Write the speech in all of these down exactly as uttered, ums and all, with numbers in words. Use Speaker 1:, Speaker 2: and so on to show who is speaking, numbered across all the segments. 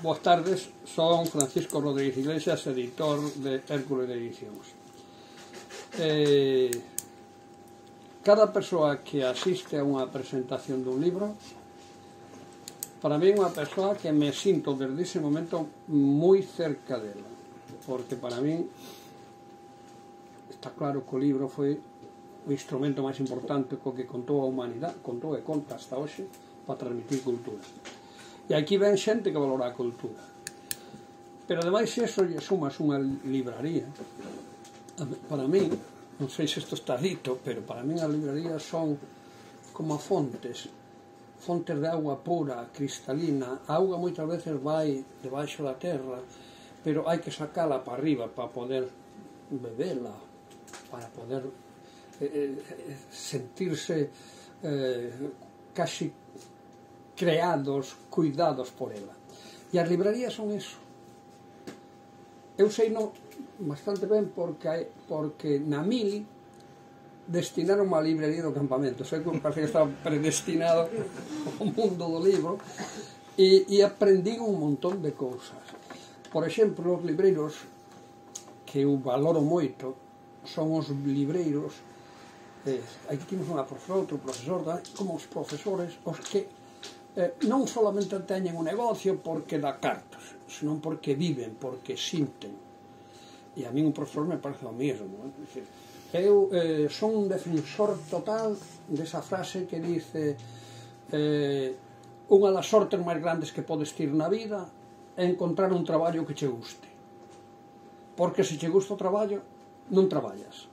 Speaker 1: Boas tardes, son Francisco Rodríguez Iglesias, editor de Hércules de Edicións. Eh, cada persoa que asiste a unha presentación dun libro, para mí é unha persoa que me sinto desde ese momento moi cerca dela, porque para mí está claro que o libro foi o instrumento máis importante co que contou a humanidade, contou e conta hasta hoxe, para transmitir cultura. E aquí ven xente que valora a cultura. Pero ademais, se eso lle sumas unha libraría, para mí, non sei se isto está dito, pero para mí as librarías son como fontes, fontes de auga pura, cristalina. A auga moitas veces vai debaixo da terra, pero hai que sacala para arriba para poder bebela, para poder eh, sentirse eh, casi creados, cuidados por ela. E as librarías son eso. Eu sei no bastante ben porque, porque na Mili destinaron a librería do campamento. Sei que parece que estaba predestinado ao mundo do libro e, e aprendí un montón de cousas. Por exemplo, os libreiros que eu valoro moito son os libreiros, eh, aquí temos unha profesora, outro profesor, como os profesores, os que Eh, non solamente teñen un negocio porque dá cartas, senón porque viven, porque sinten. E a mí un profesor me parece o mesmo. Eh? Eu eh, son un defensor total desa frase que dice eh, unha das sortes máis grandes que podes ter na vida é encontrar un traballo que che guste. Porque se che gusta o traballo, non traballas,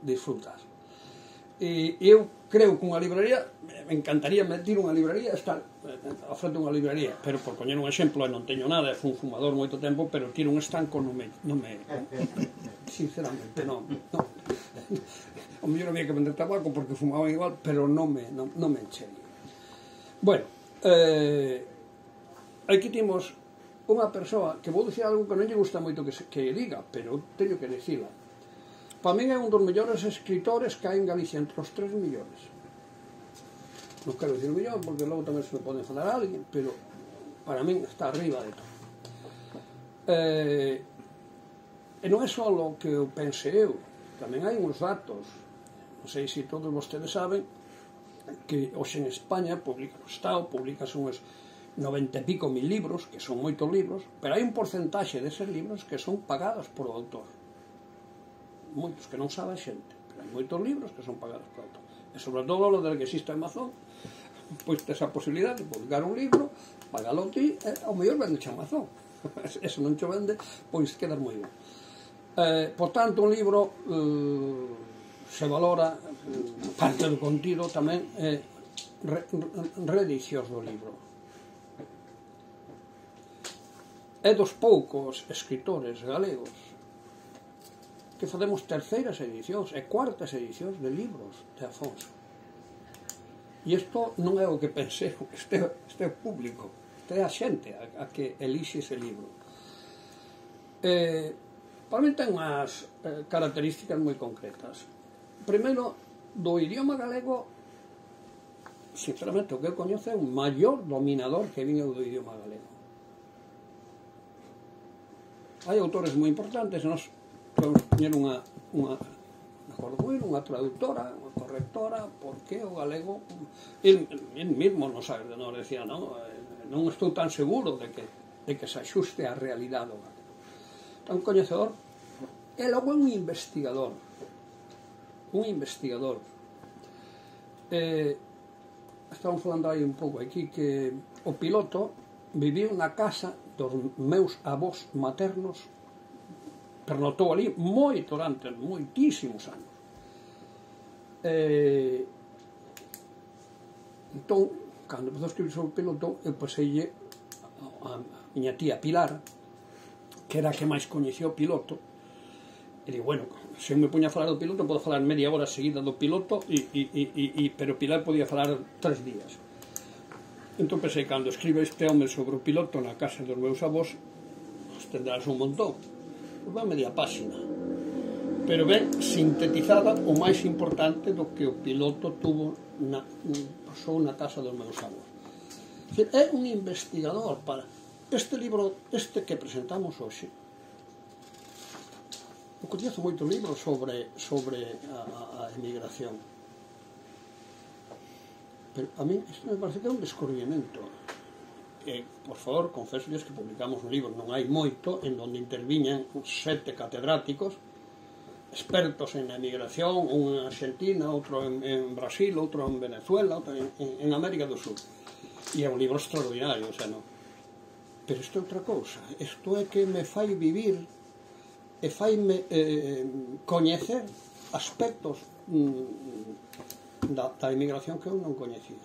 Speaker 1: disfrutas. E eu creo que unha libraría, me encantaría meter unha libraría, estar a frente unha libraría, pero por poñer un exemplo, non teño nada, fui un fumador moito tempo, pero tiro un estanco non me, non me sinceramente, non, non. O mellor había que vender tabaco porque fumaban igual, pero non me, non, non me enchería. Bueno, eh, aquí temos unha persoa que vou dicir algo que non lle gusta moito que, se, que diga, pero teño que dicila. Para min é un dos mellores escritores que hai en Galicia, entre os tres millores. Non quero dicir o millón, porque logo tamén se me pode falar a alguén, pero para min está arriba de todo. Eh, e non é só o que eu pense eu, tamén hai uns datos. Non sei se todos vostedes saben que hoxe en España publica o Estado, publica uns noventa e pico mil libros, que son moitos libros, pero hai un porcentaxe deses libros que son pagados por o autor. Moitos que non sabe a xente, pero hai moitos libros que son pagados por autor. E sobre todo lo del que existe Amazon, pois tes a posibilidade de publicar un libro, pagalo ti, e ao mellor vendeche Amazon. Eso non te vende, pois quedas moi ben. Eh, por tanto, un libro eh, se valora, eh, parte do contido tamén, é eh, re, reedicións do libro. É dos poucos escritores galegos que facemos terceiras edicións e cuartas edicións de libros de Afonso. E isto non é o que pensei, este, este é o público, este é a xente a, a que elixe ese libro. Eh, para mí ten unhas eh, características moi concretas. Primeiro, do idioma galego, sinceramente, o que eu coñezo é un maior dominador que viña do idioma galego. Hai autores moi importantes, nós podemos poñer unha, unha, unha traductora, unha correctora, porque o galego, el, el mismo nos, nos decía, non, non estou tan seguro de que, de que se axuste á realidade do galego. Tan coñecedor, e logo é un investigador, un investigador. Eh, estamos falando aí un pouco aquí que o piloto viviu na casa dos meus avós maternos, pernotou ali moito durante moitísimos anos. Eh, entón, cando empezou a escribir sobre o piloto, eu paseille a, a miña tía Pilar, que era a que máis coñecía o piloto, e digo, bueno, se eu me poña a falar do piloto, podo falar media hora seguida do piloto, e, e, e, e, pero Pilar podía falar tres días. Entón pensei, cando escribe este home sobre o piloto na casa dos meus avós, tendrás un montón. Pois va media páxina, pero ben sintetizada o máis importante do que o piloto tuvo na, pasou na casa dos meus avós. É un investigador para este libro, este que presentamos hoxe, eu coñezo moitos libros sobre, sobre a, a emigración, pero a mí isto me parece que é un descubrimento. E, por favor, confeso que publicamos un libro, non hai moito, en donde interviñan sete catedráticos expertos en emigración, un en Argentina, outro en, en Brasil, outro en Venezuela, outro en, en América do Sur. E é un libro extraordinario, o sea, non. Pero isto é outra cousa, isto é que me fai vivir e faime eh, coñecer aspectos mm, da, da emigración que eu non coñecía.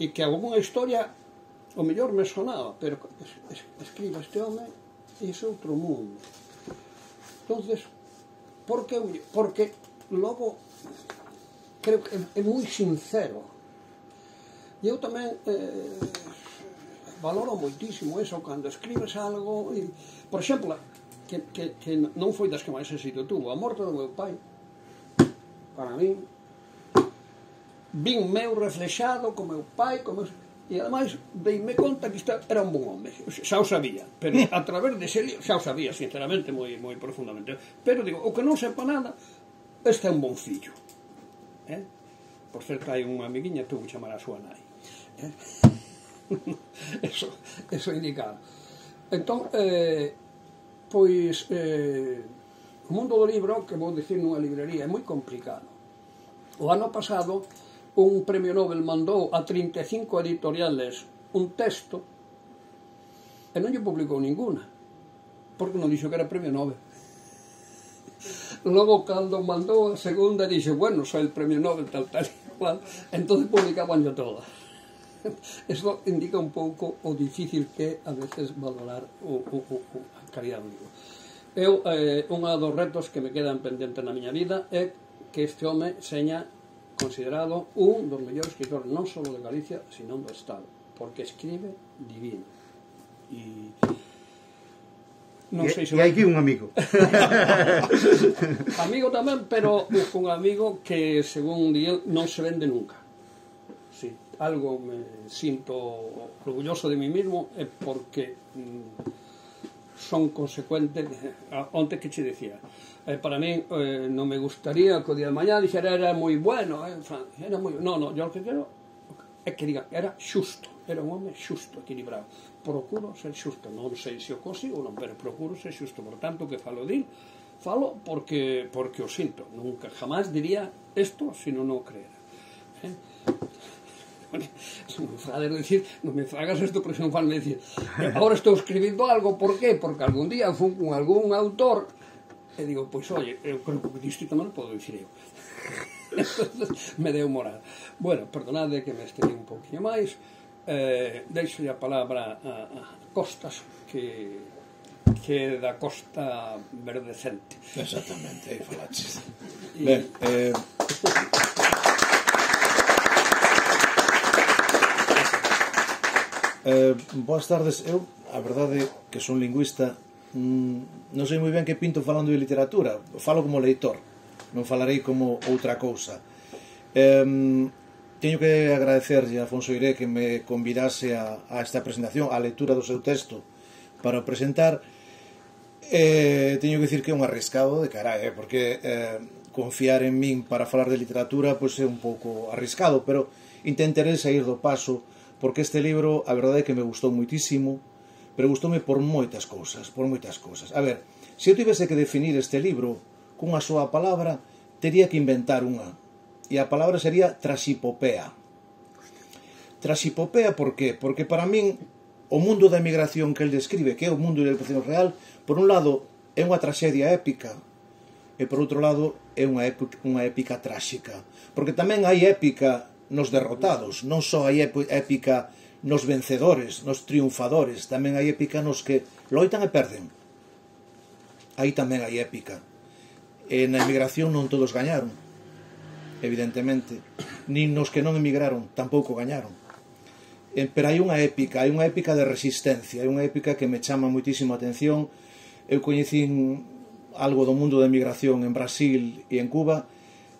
Speaker 1: E que algunha historia o mellor me sonaba, pero es, es, escriba este home e ese outro mundo. Entonces, por que? Porque logo creo que é, é moi sincero. E eu tamén eh, valoro moitísimo eso cando escribes algo. E, por exemplo, que, que, que non foi das que máis éxito tuvo, a morte do meu pai, para mí, vin meu reflexado co meu pai, co meu... E ademais deime conta que isto era un bon home, xa o sabía, pero a través dese libro, xa o sabía sinceramente moi, moi profundamente, pero digo, o que non sepa nada, este é un bon fillo, eh? Por certo hai unha amiguiña que tuvo que chamar a súa nai, eh? eso, eso indicado. Entón, eh, pois eh, o mundo do libro, que vou dicir nunha librería, é moi complicado. O ano pasado un premio Nobel mandou a trinta e cinco editoriales un texto e non lle publicou ninguna, porque non dixo que era premio Nobel. Logo, cando mandou a segunda, dixo, bueno, soy el premio Nobel, tal, tal, igual, entón publicaban yo todas. Eso indica un pouco o difícil que a veces valorar o, o, o, a calidad do libro. Eu, eh, unha dos retos que me quedan pendentes na miña vida é que este home seña considerado un dos mellores escritores non só de Galicia, sino do Estado, porque escribe divino. E non sei se...
Speaker 2: E hai aquí un amigo.
Speaker 1: Amigo tamén, pero un amigo que, según di, non se vende nunca. Si algo me sinto orgulloso de mí mismo é porque mm, son consecuentes. Onte que che decía, Eh, para mí eh, non me gustaría que o día de mañá dixera era moi bueno, eh, era moi... No, no, yo lo que quero é que diga, era xusto, era un home xusto, equilibrado. Procuro ser xusto, non sei se o consigo non, pero procuro ser xusto. Por tanto, que falo dil, falo porque, porque o sinto. Nunca, jamás diría isto se non o creera. Eh? Non me fagas decir, non me fagas isto porque non fan me decir, agora estou escribindo algo, por qué? Porque algún día fun con algún autor e digo, pois, oye, eu creo que isto tamén non podo dicir eu. Entonces, me deu moral. Bueno, perdonade que me estendí un poquinho máis. Eh, deixo a palabra a, a Costas, que, que é da Costa Verdecente.
Speaker 3: Exactamente, aí falaches. Ben, eh... eh, boas tardes. Eu, a verdade, que son lingüista, non sei moi ben que pinto falando de literatura. Falo como leitor, non falarei como outra cousa. eh, Teño que agradecerlle a Afonso Iré que me convidase a, a esta presentación, a lectura do seu texto para o presentar. eh, Teño que dicir que é un arriscado de carai, eh, porque eh, confiar en min para falar de literatura pois é un pouco arriscado, pero intentarei sair do paso, porque este libro, a verdade é que me gustou moitísimo, pero gustoume por moitas cousas, por moitas cousas. A ver, se eu tivese que definir este libro cunha súa palabra, tería que inventar unha. E a palabra sería trasipopea. Trasipopea, por qué? Porque para min, o mundo da emigración que el describe, que é o mundo da emigración real, por un lado, é unha traxedia épica, e por outro lado, é unha épica, unha épica tráxica. Porque tamén hai épica nos derrotados, non só hai épica nos vencedores, nos triunfadores, tamén hai épica nos que loitan e perden. Aí tamén hai épica. E na emigración non todos gañaron, evidentemente, nin nos que non emigraron tampouco gañaron. E, pero hai unha épica, hai unha épica de resistencia, hai unha épica que me chama moitísimo a atención. Eu coñecín algo do mundo da emigración en Brasil e en Cuba,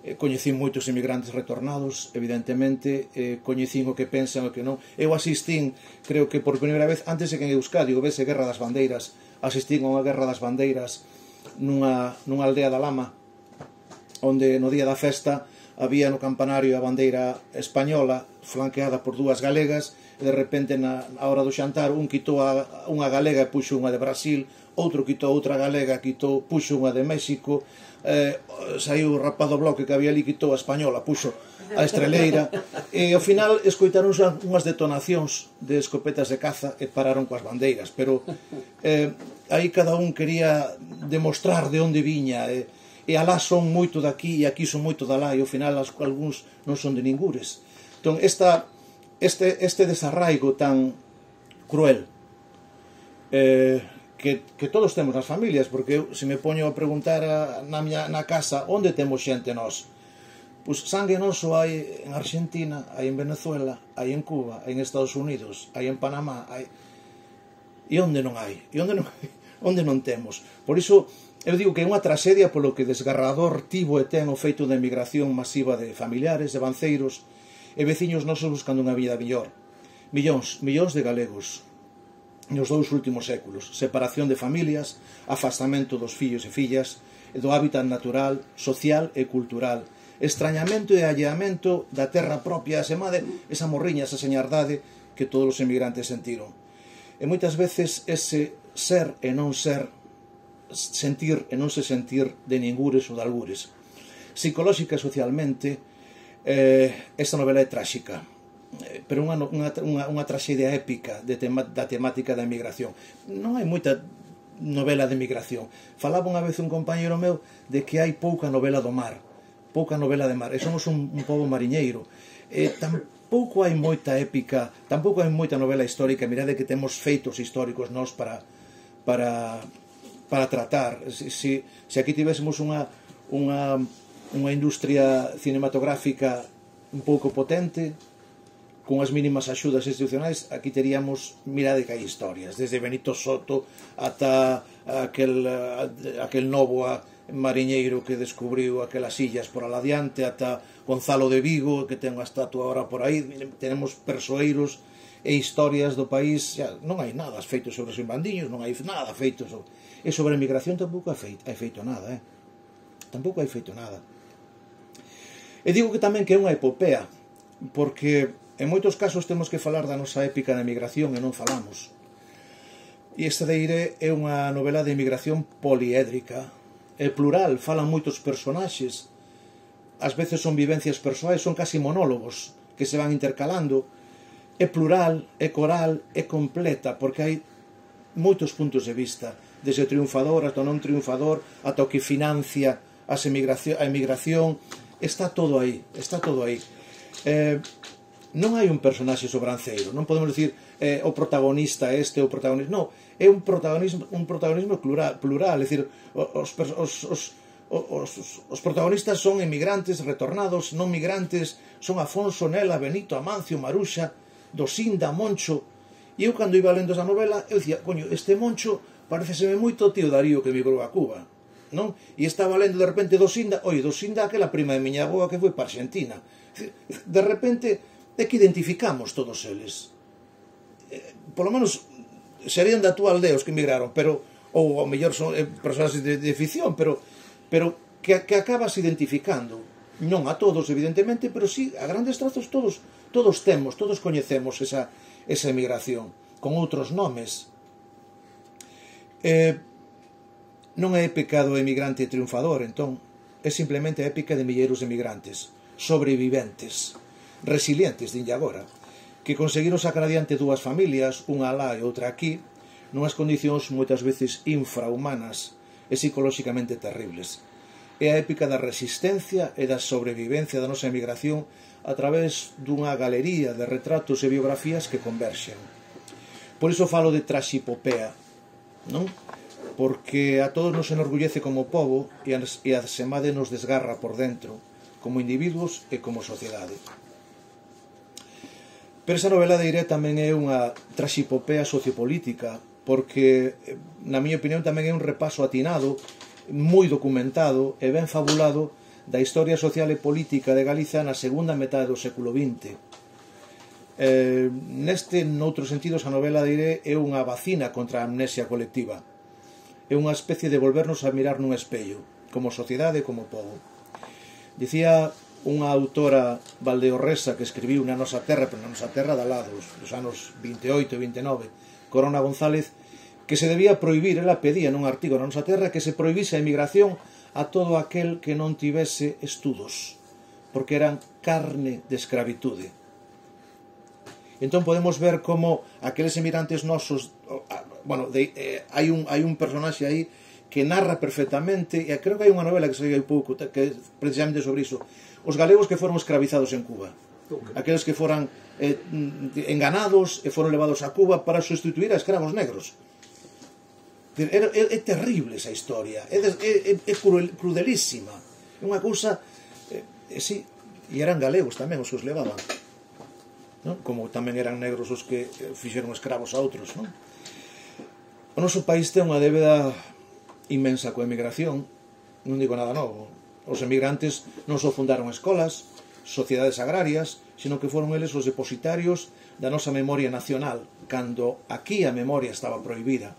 Speaker 3: eh, coñecín moitos emigrantes retornados, evidentemente, eh, coñecín o que pensan o que non. Eu asistín, creo que por primeira vez, antes de que en Euskadi houvese Guerra das Bandeiras, asistín a unha Guerra das Bandeiras nunha, nunha aldea da Lama, onde no día da festa había no campanario a bandeira española flanqueada por dúas galegas, e de repente na hora do xantar un quitou a, unha galega e puxo unha de Brasil, outro quitou outra galega, quitou, puxo unha de México, eh, saiu o rapaz do bloque que había ali, quitou a española, puxo a estreleira, e ao final escoitaron unhas detonacións de escopetas de caza e pararon coas bandeiras, pero eh, aí cada un quería demostrar de onde viña, e, e alá son moito daqui e aquí son moito de alá, e ao final algúns non son de ningures. Entón, esta, este, este desarraigo tan cruel eh, que, que todos temos nas familias, porque eu, se me poño a preguntar a, na, miña, na casa onde temos xente nós, pois sangue noso hai en Argentina, hai en Venezuela, hai en Cuba, hai en Estados Unidos, hai en Panamá, hai... e onde non hai? E onde non, onde non temos? Por iso eu digo que é unha traxedia polo que desgarrador tivo e ten o feito da emigración masiva de familiares, de banceiros e veciños nosos buscando unha vida mellor. Millóns, millóns de galegos nos dous últimos séculos, separación de familias, afastamento dos fillos e fillas, e do hábitat natural, social e cultural, extrañamento e alleamento da terra propia, asemade, esa morriña, esa señardade que todos os emigrantes sentiron. E moitas veces ese ser e non ser, sentir e non se sentir de ningures ou de algures. Psicolóxica e socialmente, eh, esta novela é tráxica, pero unha, unha, unha, unha traxedia épica de tema, da temática da emigración. Non hai moita novela de emigración. Falaba unha vez un compañero meu de que hai pouca novela do mar, pouca novela de mar, e somos un, un pobo mariñeiro. E tampouco hai moita épica, tampouco hai moita novela histórica. Mirade que temos feitos históricos nós para, para, para tratar. Se, se, se aquí tivésemos unha, unha, unha industria cinematográfica un pouco potente, con as mínimas axudas institucionais, aquí teríamos, mirade que hai historias, desde Benito Soto ata aquel, aquel novo mariñeiro que descubriu aquelas illas por aladiante, ata Gonzalo de Vigo, que ten unha estatua ahora por aí. Tenemos persoeiros e historias do país. Ya, non hai nada feito sobre os imbandiños, non hai nada feito sobre... E sobre a emigración tampouco hai feito, hai feito nada, eh? Tampouco hai feito nada. E digo que tamén que é unha epopea, porque en moitos casos temos que falar da nosa épica da emigración e non falamos. E este de Eire é unha novela de emigración poliédrica, é plural, falan moitos personaxes, ás veces son vivencias persoais, son casi monólogos que se van intercalando, é plural, é coral, é completa, porque hai moitos puntos de vista, desde o triunfador ata o non triunfador, ata o que financia a emigración, está todo aí, está todo aí. Eh, non hai un personaxe sobranceiro, non podemos dicir eh, o protagonista este, o protagonista, non, é un protagonismo, un protagonismo plural, plural, é dicir, os, os, os, os, os protagonistas son emigrantes, retornados, non migrantes, son Afonso, Nela, Benito, Amancio, Maruxa, Dosinda, Moncho, e eu cando iba lendo esa novela, eu dicía, coño, este Moncho pareceseme moito o tío Darío que emigrou a Cuba, non? E estaba lendo de repente Dosinda, oi, Dosinda aquela prima de miña avoa que foi para Argentina, de repente é que identificamos todos eles. Eh, polo menos serían da túa aldea os que emigraron, pero ou ao mellor son eh, persoas de, de ficción, pero, pero que, que acabas identificando. Non a todos, evidentemente, pero sí, a grandes trazos todos, todos temos, todos coñecemos esa, esa emigración, con outros nomes. Eh, non é pecado emigrante triunfador, entón, é simplemente a épica de milleiros de emigrantes, sobreviventes, resilientes, dinlle agora, que conseguiron sacar adiante dúas familias, unha alá e outra aquí, nunhas condicións moitas veces infrahumanas e psicolóxicamente terribles. É a épica da resistencia e da sobrevivencia da nosa emigración a través dunha galería de retratos e biografías que converxen. Por iso falo de traxipopea, non? Porque a todos nos enorgullece como pobo e a semade nos desgarra por dentro, como individuos e como sociedade. Pero esa novela de Eire tamén é unha traxipopea sociopolítica, porque, na miña opinión, tamén é un repaso atinado, moi documentado e ben fabulado da historia social e política de Galicia na segunda metade do século vinte. Eh, neste, noutros sentidos, a novela de Eiré é unha vacina contra a amnesia colectiva. É unha especie de volvernos a mirar nun espello, como sociedade e como povo. Dicía unha autora valdeorresa que escribiu na nosa terra, pero na nosa terra de alados, dos anos vinte e oito e vinte e nove, Corona González, que se debía prohibir, ela pedía nun artigo na nosa terra que se prohibise a emigración a todo aquel que non tivese estudos, porque eran carne de escravitude. Entón podemos ver como aqueles emigrantes nosos, bueno, de, eh, hai, un, hai un personaxe aí que narra perfectamente, e creo que hai unha novela que saiu hai pouco, que é precisamente sobre iso, os galegos que foron escravizados en Cuba, aqueles que foran eh, enganados e foron levados a Cuba para sustituir a escravos negros. É, é, é terrible esa historia, é, é, é crudelísima, é unha cousa, eh, sí, e eran galegos tamén os que os levaban, non? Como tamén eran negros os que fixeron escravos a outros, non? O noso país ten unha débeda inmensa coa emigración, non digo nada novo. Os emigrantes non só fundaron escolas, sociedades agrarias, sino que foron eles os depositarios da nosa memoria nacional, cando aquí a memoria estaba prohibida.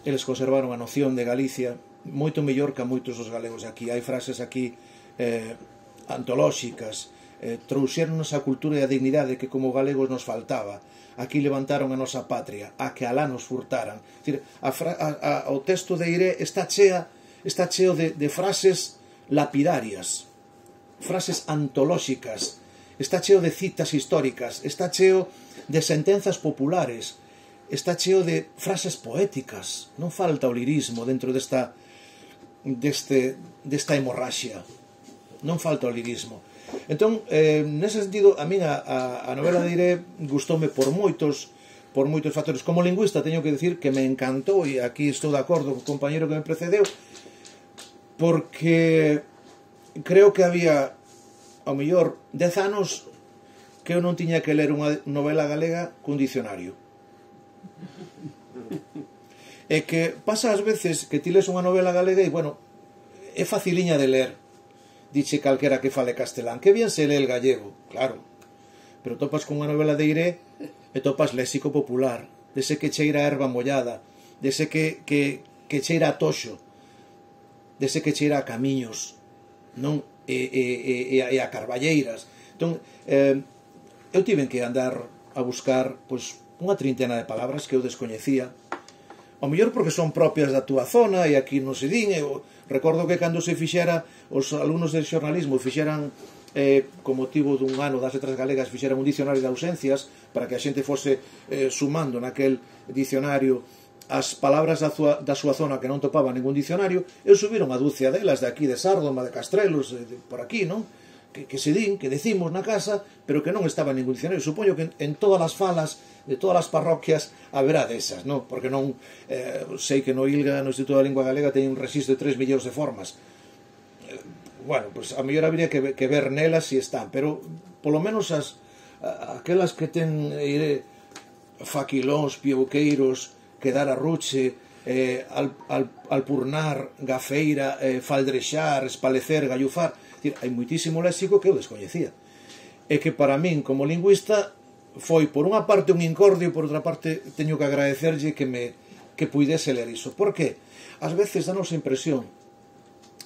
Speaker 3: Eles conservaron a noción de Galicia moito mellor que a moitos dos galegos de aquí. Hai frases aquí eh, antolóxicas, eh, trouxeronnos a cultura e a dignidade que como galegos nos faltaba. Aquí levantaron a nosa patria, a que alá nos furtaran. Dicir, a fra, a, a, o texto de Eiré está chea, está cheo de, de frases lapidarias, frases antolóxicas, está cheo de citas históricas, está cheo de sentenzas populares, está cheo de frases poéticas. Non falta o lirismo dentro desta, deste, desta hemorraxia. Non falta o lirismo. Entón, eh, nese sentido, a min a, a, a novela de Eiré gustoume por moitos por moitos factores. Como lingüista teño que decir que me encantou, e aquí estou de acordo co compañero que me precedeu, porque creo que había ao mellor dez anos que eu non tiña que ler unha novela galega cun dicionario. E que pasa ás veces que ti les unha novela galega e, bueno, é faciliña de ler, diche calquera que fale castelán, que bien se lee el gallego, claro, pero topas con unha novela de Eiré e topas léxico popular, dese que cheira a erva mollada, dese que, que, que cheira a toxo, dese que cheira a camiños, non? E, e, e, e a carballeiras. Entón, eh, eu tiven que andar a buscar pois, unha trintena de palabras que eu descoñecía, ao mellor porque son propias da túa zona e aquí non se din. Eu recordo que cando se fixera os alumnos de xornalismo fixeran eh, con motivo dun ano das letras galegas fixeran un dicionario de ausencias para que a xente fose eh, sumando naquel dicionario as palabras da, zua, da súa zona que non topaba ningún dicionario. Eu subiron a dúcia delas de aquí, de Sárdoma, de Castrelos, de, de, por aquí, non? Que, que se din, que decimos na casa, pero que non estaba en ningún diccionario. Supoño que en, en todas as falas de todas as parroquias haberá desas, non? Porque non eh, sei que no ILGA, no Instituto da Lingua Galega, teñen un registro de tres millóns de formas. Eh, bueno, pues a mellor habría que, que ver nelas si están, pero polo menos as a, aquelas que ten eh, faquilóns, piebuqueiros, quedar a ruche, eh, al, al, alpurnar, gafeira, eh, faldrexar, espalecer, gallufar. Decir, hai moitísimo léxico que eu descoñecía. E que para min, como lingüista, foi por unha parte un incordio, por outra parte teño que agradecerlle que me que puidese ler iso. Por que? Ás veces danos a impresión,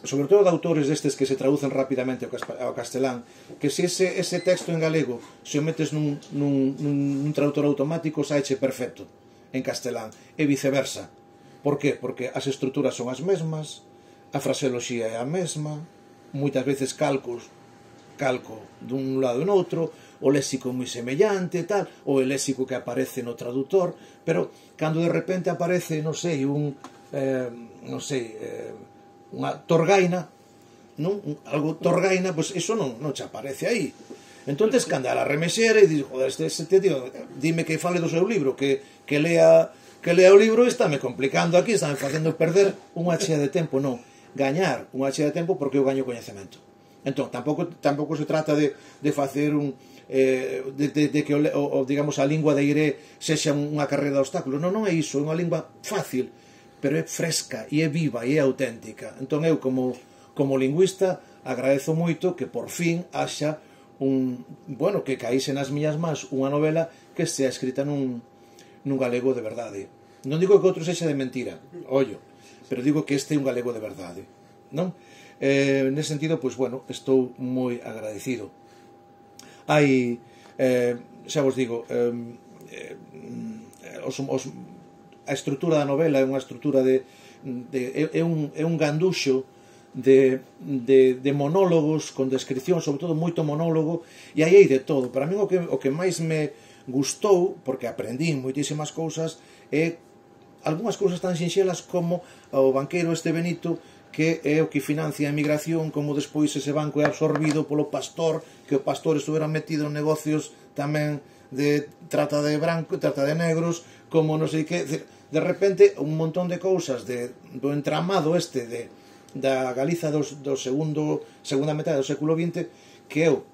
Speaker 3: sobre todo de autores destes que se traducen rapidamente ao castelán, que se ese, ese texto en galego se o metes nun, nun, nun traductor automático saeche perfecto en castelán, e viceversa. Por que? Porque as estruturas son as mesmas, a fraseoloxía é a mesma, moitas veces calcos, calco dun lado e noutro, o léxico moi semellante, tal, ou o léxico que aparece no traductor, pero cando de repente aparece, non sei, un, eh, non sei, eh, unha torgaina, non? Algo torgaina, pois pues eso non, non che aparece aí. Entón tes que andar a remexer e dir, joder, este, este tío, dime que fale do seu libro, que, que lea que lea o libro, estáme complicando aquí, estáme facendo perder unha chea de tempo. Non, gañar unha chea de tempo porque eu gaño coñecemento. Entón, tampouco, tampouco se trata de, de facer un eh, de, de, de que o, o, digamos, a lingua de Eiré sexa unha carreira de obstáculos. Non, non é iso, é unha lingua fácil, pero é fresca, e é viva, e é auténtica. Entón eu, como, como lingüista, agradezo moito que por fin haxa un, bueno, que caíse nas miñas mans unha novela que sea escrita nun, nun galego de verdade. Non digo que outro sexa de mentira, ollo, pero digo que este é un galego de verdade, non? Eh, nese sentido, pois, bueno, estou moi agradecido. Hai, eh, xa vos digo, eh, eh, os, os, a estrutura da novela é unha estrutura de, de é, un, é un ganduxo de, de, de monólogos con descripción, sobre todo moito monólogo, e aí hai de todo. Para mí o que, o que máis me gustou, porque aprendí moitísimas cousas, é algunhas cousas tan sinxelas como o banqueiro este Benito, que é o que financia a emigración, como despois ese banco é absorbido polo pastor, que o pastor estuvera metido en negocios tamén de trata de branco, trata de negros, como non sei que, de repente un montón de cousas de, do entramado este de da Galiza dos, do segundo, segunda metade do século vinte, que eu,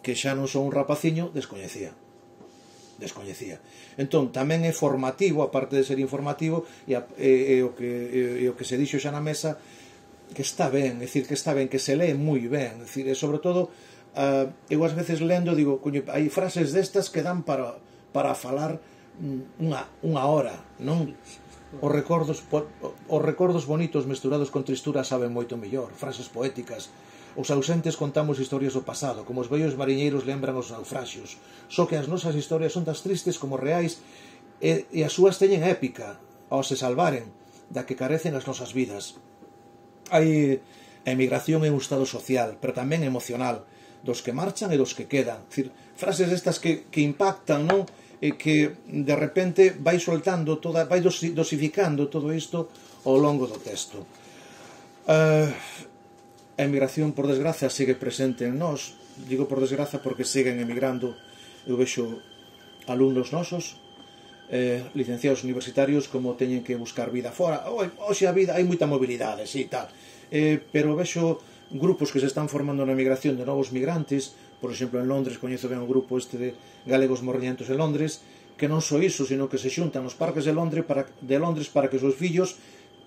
Speaker 3: que xa non son un rapaciño, descoñecía. Descoñecía. Entón, tamén é formativo, aparte de ser informativo, e, e, e, o, que, e, e o que se dixo xa na mesa, que está ben, é dicir, que está ben, que se lee moi ben, é dicir, e sobre todo, uh, eu ás veces lendo, digo, coño, hai frases destas que dan para, para falar unha, unha hora, non? Os recordos, os recordos bonitos mesturados con tristura saben moito mellor, frases poéticas. Os ausentes contamos historias do pasado, como os vellos mariñeiros lembran os naufraxios. Só que as nosas historias son tas tristes como reais e, e as súas teñen épica, ao se salvaren, da que carecen as nosas vidas. Hai a emigración é un estado social, pero tamén emocional, dos que marchan e dos que quedan. É dicir, frases estas que, que impactan, non? E que de repente vai soltando toda, vai dosificando todo isto ao longo do texto. Uh, a emigración, por desgracia, sigue presente en nós. Digo por desgracia porque siguen emigrando. Eu vexo alumnos nosos, eh, licenciados universitarios, como teñen que buscar vida fora. Hoxe a vida, hai moita mobilidade, sí, tal. Eh, pero vexo grupos que se están formando na emigración de novos migrantes. Por exemplo, en Londres, coñezo ben o grupo este de galegos morriñentos en Londres, que non só iso, sino que se xuntan nos parques de Londres para, de Londres para que os seus fillos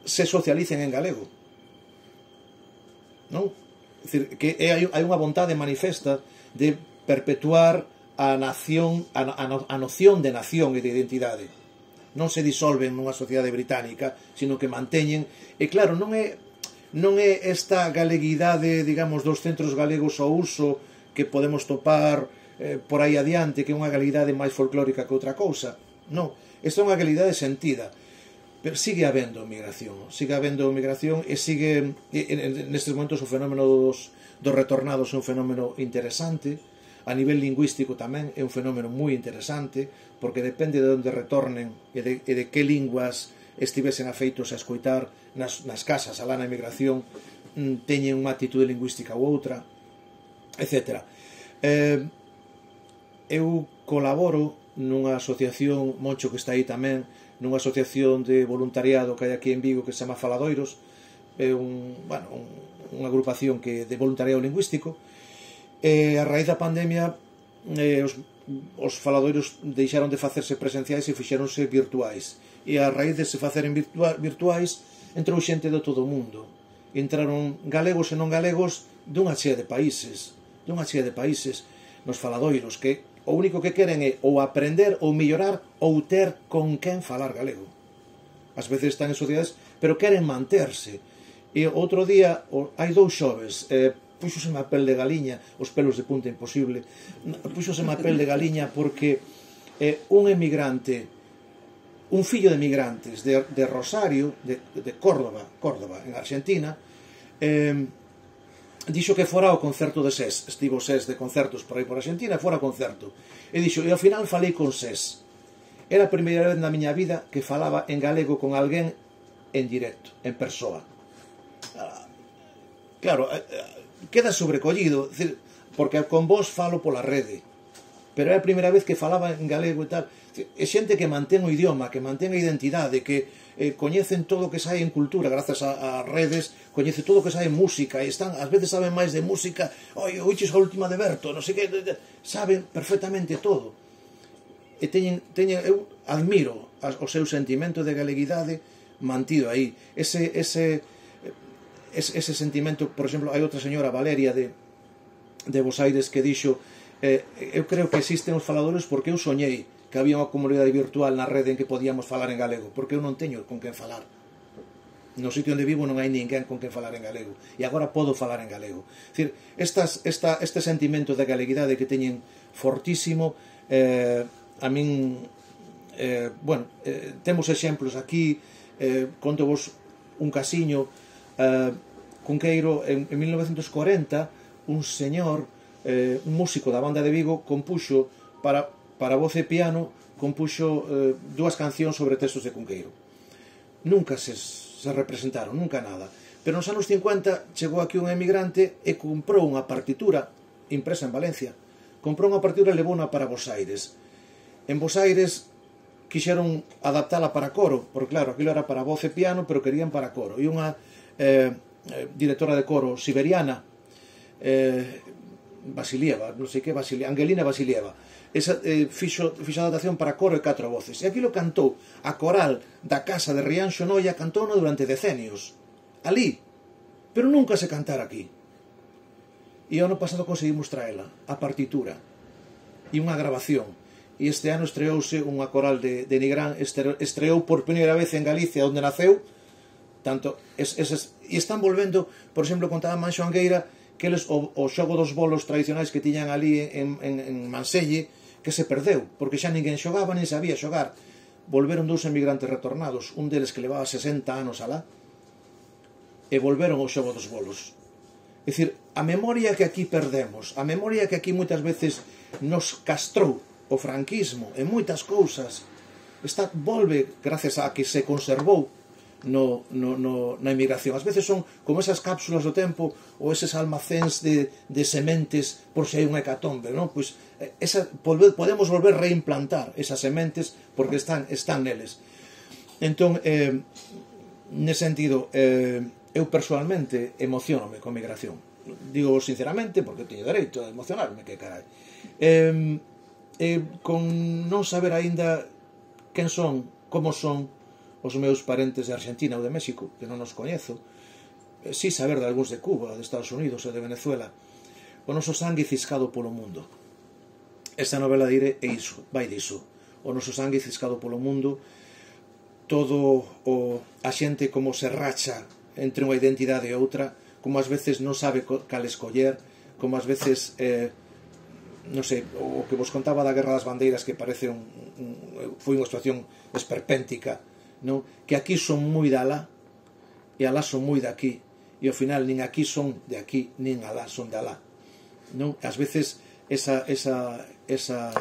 Speaker 3: se socialicen en galego. Non? É dicir, que hai, hai unha vontade manifesta de perpetuar a nación, a, a, a noción de nación e de identidade. Non se disolven nunha sociedade británica, sino que manteñen, e claro, non é, non é esta galeguidade, digamos, dos centros galegos ao uso que podemos topar eh, por aí adiante, que é unha galeguidade máis folclórica que outra cousa. Non, esta é unha galeguidade sentida. Pero sigue habendo migración, sigue habendo migración e sigue, e, nestes momentos, o fenómeno dos, dos retornados é un fenómeno interesante. A nivel lingüístico tamén é un fenómeno moi interesante, porque depende de onde retornen e de, e de que linguas estivesen afeitos a escoitar nas, nas casas alá na emigración, teñen unha actitude lingüística ou outra, etcétera. Eh, eu colaboro nunha asociación, Moncho que está aí tamén, nunha asociación de voluntariado que hai aquí en Vigo que se chama Faladoiros, é un, bueno, un, unha agrupación que de voluntariado lingüístico, e a raíz da pandemia eh, os, os faladoiros deixaron de facerse presenciais e fixeronse virtuais, e a raíz de se faceren virtua, virtuais entrou xente de todo o mundo, entraron galegos e non galegos dunha chea de países, dunha chea de países nos faladoiros, que o único que queren é ou aprender ou mellorar ou ter con quen falar galego. Ás veces están en sociedades, pero queren manterse. E outro día, hai dous xoves, eh, puxoseme a pel de galiña, os pelos de punta imposible, puxoseme a pel de galiña porque eh, un emigrante, un fillo de emigrantes de, de Rosario, de, de Córdoba, Córdoba, en Argentina, eh, dixo que fora ao concerto de SES, estivo SES de concertos por aí por Argentina, fora ao concerto, e dixo, e ao final falei con SES. Era a primeira vez na miña vida que falaba en galego con alguén en directo, en persoa. Claro, queda sobrecollido, porque con vos falo pola rede, pero é a primeira vez que falaba en galego e tal. É xente que mantén o idioma, que mantén a identidade, que eh, coñecen todo o que sai en cultura, grazas a, a redes, coñece todo o que sai en música, e están, ás veces saben máis de música, oi, oiches a última de Berto, non sei que, saben perfectamente todo. E teñen, teñen, eu admiro o seu sentimento de galeguidade mantido aí, ese, ese, ese sentimento, por exemplo, hai outra señora, Valeria de, de Bos Aires, que dixo eh, eu creo que existen os faladores porque eu soñei que había unha comunidade virtual na rede en que podíamos falar en galego, porque eu non teño con quen falar. No sitio onde vivo non hai ninguén con quen falar en galego, e agora podo falar en galego. É dicir, estas, esta, este sentimento de galeguidade que teñen fortísimo, eh, a min, eh, bueno, eh, temos exemplos aquí, eh, conto vos un casiño, eh, Cunqueiro, en, en mil novecientos cuarenta, un señor, eh, un músico da banda de Vigo, compuxo para, para voz e piano, compuxo eh, dúas cancións sobre textos de Cunqueiro. Nunca se, se representaron, nunca nada. Pero nos anos cincuenta chegou aquí un emigrante e comprou unha partitura impresa en Valencia. Comprou unha partitura e levou-na para Bos Aires. En Bos Aires quixeron adaptala para coro, porque claro, aquilo era para voz e piano, pero querían para coro. E unha eh, directora de coro siberiana, eh, Vasilieva, non sei que, Vasilieva, Angelina Vasilieva, esa, eh, fixo, fixo adaptación para coro e catro voces. E aquilo cantou a coral da casa de Rianxo Noia, cantou durante decenios, ali, pero nunca se cantara aquí. E o ano pasado conseguimos traela, a partitura, e unha grabación. E este ano estreouse unha coral de, de Nigrán, estreou por primeira vez en Galicia, onde naceu, tanto, es, es, e están volvendo, por exemplo, contaba Manxo Angueira, que eles, o, o xogo dos bolos tradicionais que tiñan ali en, en, en Manselle, que se perdeu, porque xa ninguén xogaba, nin sabía xogar. Volveron dous emigrantes retornados, un deles que levaba sesenta anos alá, e volveron ao xogo dos bolos. É dicir, a memoria que aquí perdemos, a memoria que aquí moitas veces nos castrou o franquismo e moitas cousas, está, volve gracias a que se conservou no, no, no, na emigración. As veces son como esas cápsulas do tempo ou eses almacéns de, de sementes por se hai unha hecatombe, non? Pois, esa, podemos volver a reimplantar esas sementes porque están, están neles. Entón, eh, nese sentido, eh, eu personalmente emocionome con migración. Digo sinceramente, porque teño dereito a emocionarme, que carai. Eh, eh, con non saber aínda quen son, como son os meus parentes de Argentina ou de México, que non os coñezo, eh, si saber de algúns de Cuba, de Estados Unidos e de Venezuela, o noso sangue ciscado polo mundo. Esta novela dire é iso, vai diso. O noso sangue ciscado polo mundo, todo o, a xente como se racha entre unha identidade e outra, como ás veces non sabe cal escoller, como ás veces, eh, non sei, o que vos contaba da Guerra das Bandeiras, que parece un, un, foi unha situación esperpéntica, non? Que aquí son moi de alá, e alá son moi de aquí, e ao final nin aquí son de aquí, nin alá son de alá, non? Ás veces esa, esa, esa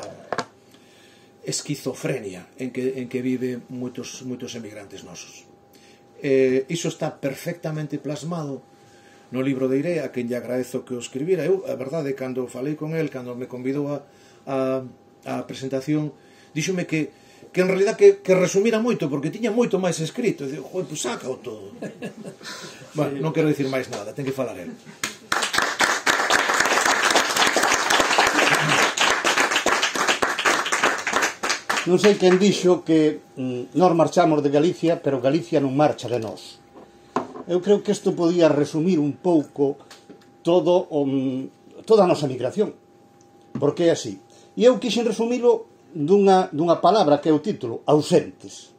Speaker 3: esquizofrenia en que, en que vive moitos, moitos emigrantes nosos. Eh, iso está perfectamente plasmado no libro de Iré, a quen lle agradezo que o escribira. Eu, a verdade, cando falei con el, cando me convidou a, a, a presentación, díxome que, que en realidad que, que resumira moito, porque tiña moito máis escrito. E digo, joder, pues sácao todo. Bueno, non quero dicir máis nada, ten que falar el.
Speaker 2: Non sei quen dixo que mm, nós marchamos de Galicia, pero Galicia non marcha de nós. Eu creo que isto podía resumir un pouco todo o, toda a nosa migración, porque é así. E eu quixen resumilo dunha, dunha palabra que é o título, ausentes.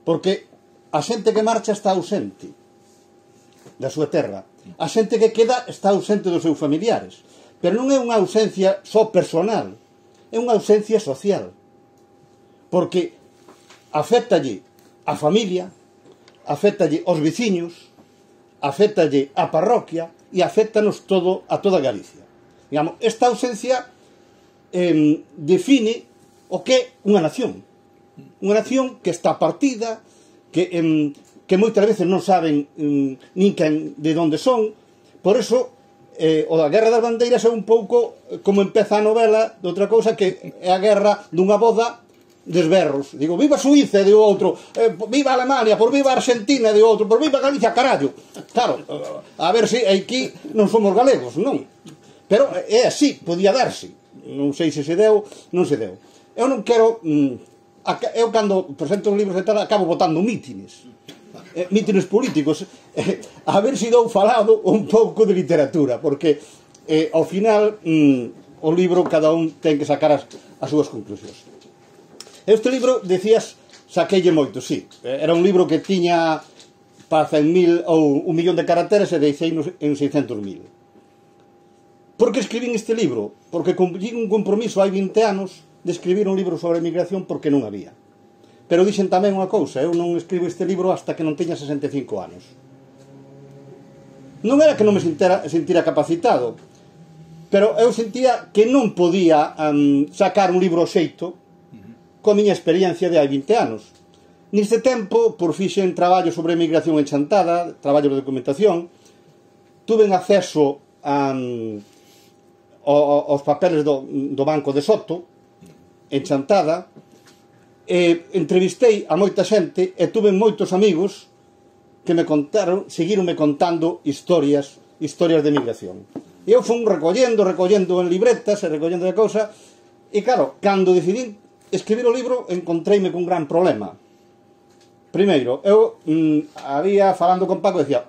Speaker 2: Porque a xente que marcha está ausente da súa terra. A xente que queda está ausente dos seus familiares. Pero non é unha ausencia só personal, é unha ausencia social. Porque afectalle a familia, afectalle aos veciños, afectalle a parroquia e afectanos todo a toda Galicia. Digamos, esta ausencia eh, define o que é unha nación. Unha nación que está partida, que, eh, que moitas veces non saben eh, nin quen de onde son. Por eso, eh, o da Guerra das Bandeiras é un pouco como empeza a novela de outra cousa, que é a guerra dunha boda desberros. Digo, viva Suíza, de outro, eh, viva Alemania, por viva Argentina, de outro, por viva Galicia, carallo. Claro, a ver se aquí non somos galegos, non? Pero é así, podía darse. Non sei se se deu, non se deu. Eu non quero... Eu cando presento os libros e tal, acabo botando mítines. eh, mítines políticos, eh, a ver se dou falado un pouco de literatura, porque eh, ao final mm, o libro cada un ten que sacar as, as súas conclusións. Este libro, decías, saqueille moito, sí. Era un libro que tiña para cen mil ou un millón de caracteres e deixei en seiscentos mil. Por que escribín este libro? Porque cumplín un compromiso hai vinte anos de escribir un libro sobre a emigración porque non había. Pero dixen tamén unha cousa, eu non escribo este libro hasta que non teña sesenta e cinco anos. Non era que non me sentira, sentira capacitado, pero eu sentía que non podía um, sacar un libro xeito coa miña experiencia de hai vinte anos. Neste tempo, por fixen traballo sobre emigración en Chantada, traballo de documentación, tuve acceso a, aos papeles do, do Banco de Soto, en Chantada, e entrevistei a moita xente e tuve moitos amigos que me contaron, seguironme contando historias, historias de emigración. E eu fui recollendo, recollendo en libretas e recollendo de cousa, e claro, cando decidí escribir o libro, encontreime cun gran problema. Primeiro, eu mm, había, falando con Paco, decía,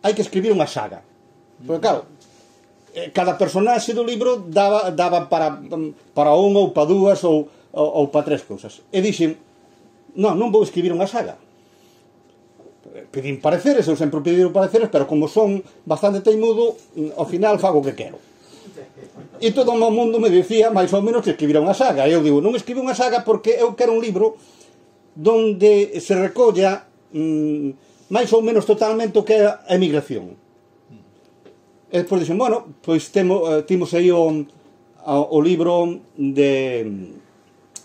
Speaker 2: hai que escribir unha saga. Porque claro, cada personaxe do libro daba, daba para, para unha ou para dúas ou, ou, ou para tres cousas. E dixen, non, non vou escribir unha saga. Pedín pareceres, eu sempre pediron pareceres, pero como son bastante teimudo, ao final fago o que quero. E todo o mundo me decía, máis ou menos, que escribira unha saga. E eu digo, non escribo unha saga porque eu quero un libro donde se recolla mmm, máis ou menos totalmente o que é a emigración. E despois dixen, bueno, pois temo, eh, timos aí o, o libro de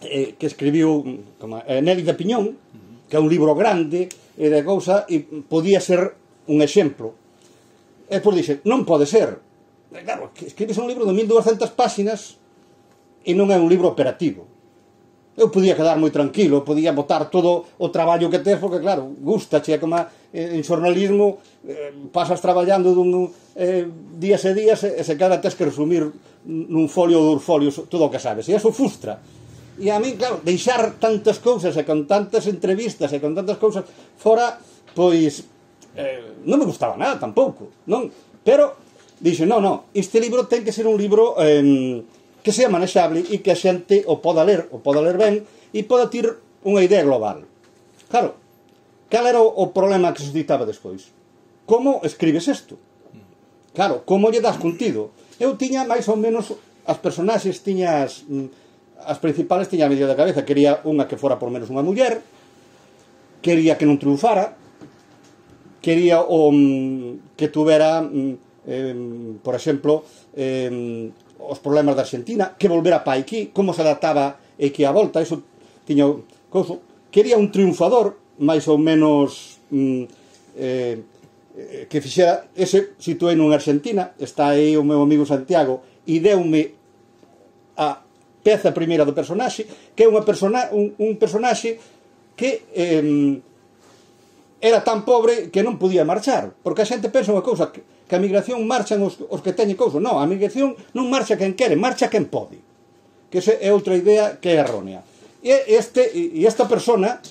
Speaker 2: eh, que escribiu como, eh, Nelly de Piñón, que é un libro grande e de cousa, e podía ser un exemplo. E despois dixen, non pode ser. E claro, escribes un libro de mil dúascentas páxinas e non é un libro operativo. Eu podía quedar moi tranquilo, podía botar todo o traballo que tes, porque claro, gusta, che, como en xornalismo eh, pasas traballando dun, eh, días e días e se cada tes que resumir nun folio ou dous folios todo o que sabes, e eso frustra. E a mí, claro, deixar tantas cousas e con tantas entrevistas e con tantas cousas fora, pois eh, non me gustaba nada tampouco, non? Pero dixe, non, non, este libro ten que ser un libro eh, que sea manexable e que a xente o poda ler, o poda ler ben e poda ter unha idea global. Claro, cal era o problema que suscitaba despois? Como escribes isto? Claro, como lle das contido? Eu tiña máis ou menos as personaxes, tiña as, as principales tiña a medio da cabeza. Quería unha que fora por menos unha muller, quería que non triunfara, quería o, que tuvera eh, por exemplo eh, os problemas da Argentina, que volvera pa aquí, como se adaptaba aquí a volta, eso tiña couso. Quería un triunfador, máis ou menos mm, eh, que fixera, ese situei en Argentina, está aí o meu amigo Santiago, e deume a peza primeira do personaxe, que é unha persona, un, un personaxe que eh, era tan pobre que non podía marchar, porque a xente pensa unha cousa, que que a migración marchan os, os que teñen cousa. Non, a migración non marcha quen quere, marcha quen pode. Que esa é outra idea que é errónea. E, este, e esta persona,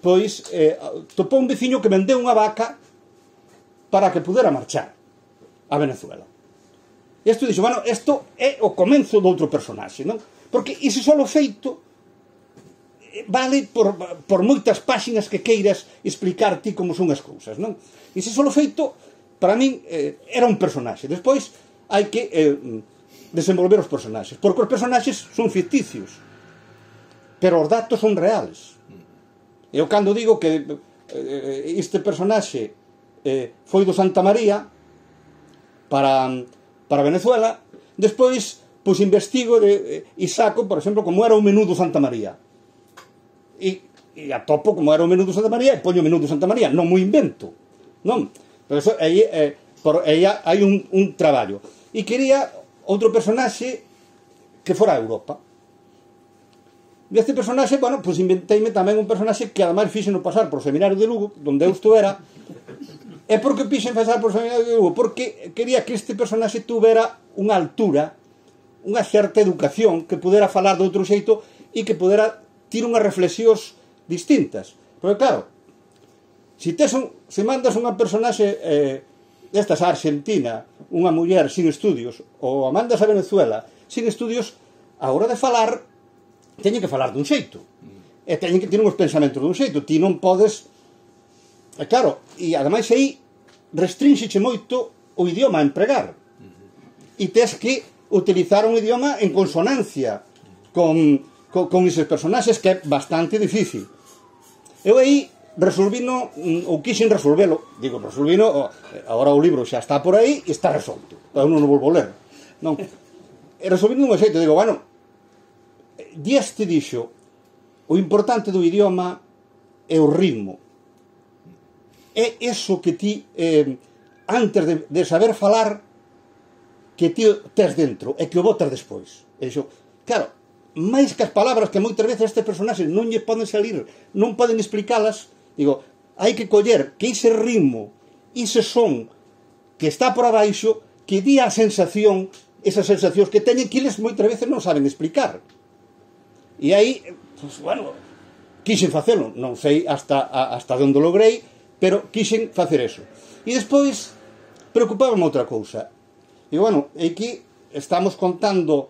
Speaker 2: pois, eh, topou un veciño que vendeu unha vaca para que pudera marchar a Venezuela. E isto dixo, bueno, isto é o comenzo do outro personaxe, non? Porque ese solo feito vale por, por moitas páxinas que queiras explicar ti como son as cousas, non? Ese solo feito para min eh, era un personaxe. Despois hai que eh, desenvolver os personaxes, porque os personaxes son ficticios, pero os datos son reales. Eu cando digo que eh, este personaxe eh, foi do Santa María para, para Venezuela, despois pois investigo de, e saco, por exemplo, como era o menú do Santa María, e, e atopo como era o menú do Santa María e poño o menú do Santa María, non mo invento, non? Pero eso, aí, eh, por, aí hai un, un traballo. E quería outro personaxe que fora a Europa. E este personaxe, bueno, pois inventeime tamén un personaxe que ademais fixen pasar por o seminario de Lugo, donde eu estuvera. E por que fixen pasar por o seminario de Lugo? Porque quería que este personaxe tuvera unha altura, unha certa educación, que pudera falar de outro xeito e que pudera ter unhas reflexións distintas. Porque claro, Se, tes un, se mandas unha personaxe eh, destas a Argentina, unha muller sin estudios, ou a mandas a Venezuela sin estudios, a hora de falar teñen que falar dun xeito, e teñen que ter uns pensamentos dun xeito. Ti non podes, e claro, e ademais aí restrinxiche moito o idioma a empregar, e tes que utilizar un idioma en consonancia con, con, con eses personaxes, que é bastante difícil. Eu aí resolvino, ou quixen resolvelo, digo, resolvino, agora o libro xa está por aí e está resolto, eu non o volvo a ler, non? E resolvino un xeito, digo, bueno, Díaz te dixo, o importante do idioma é o ritmo, é eso que ti, eh, antes de, de saber falar, que ti tes dentro, e que o botas despois. E dixo, claro, máis que as palabras que moitas veces este personaxe non lle poden salir, non poden explicalas, digo, hai que coller que ese ritmo, ese son que está por abaixo, que di a sensación, esas sensacións que teñen, que eles moitas veces non saben explicar. E aí, pues, bueno, quixen facelo, non sei hasta, hasta onde logrei, pero quixen facer eso. E despois, preocupábame outra cousa. E, bueno, aquí estamos contando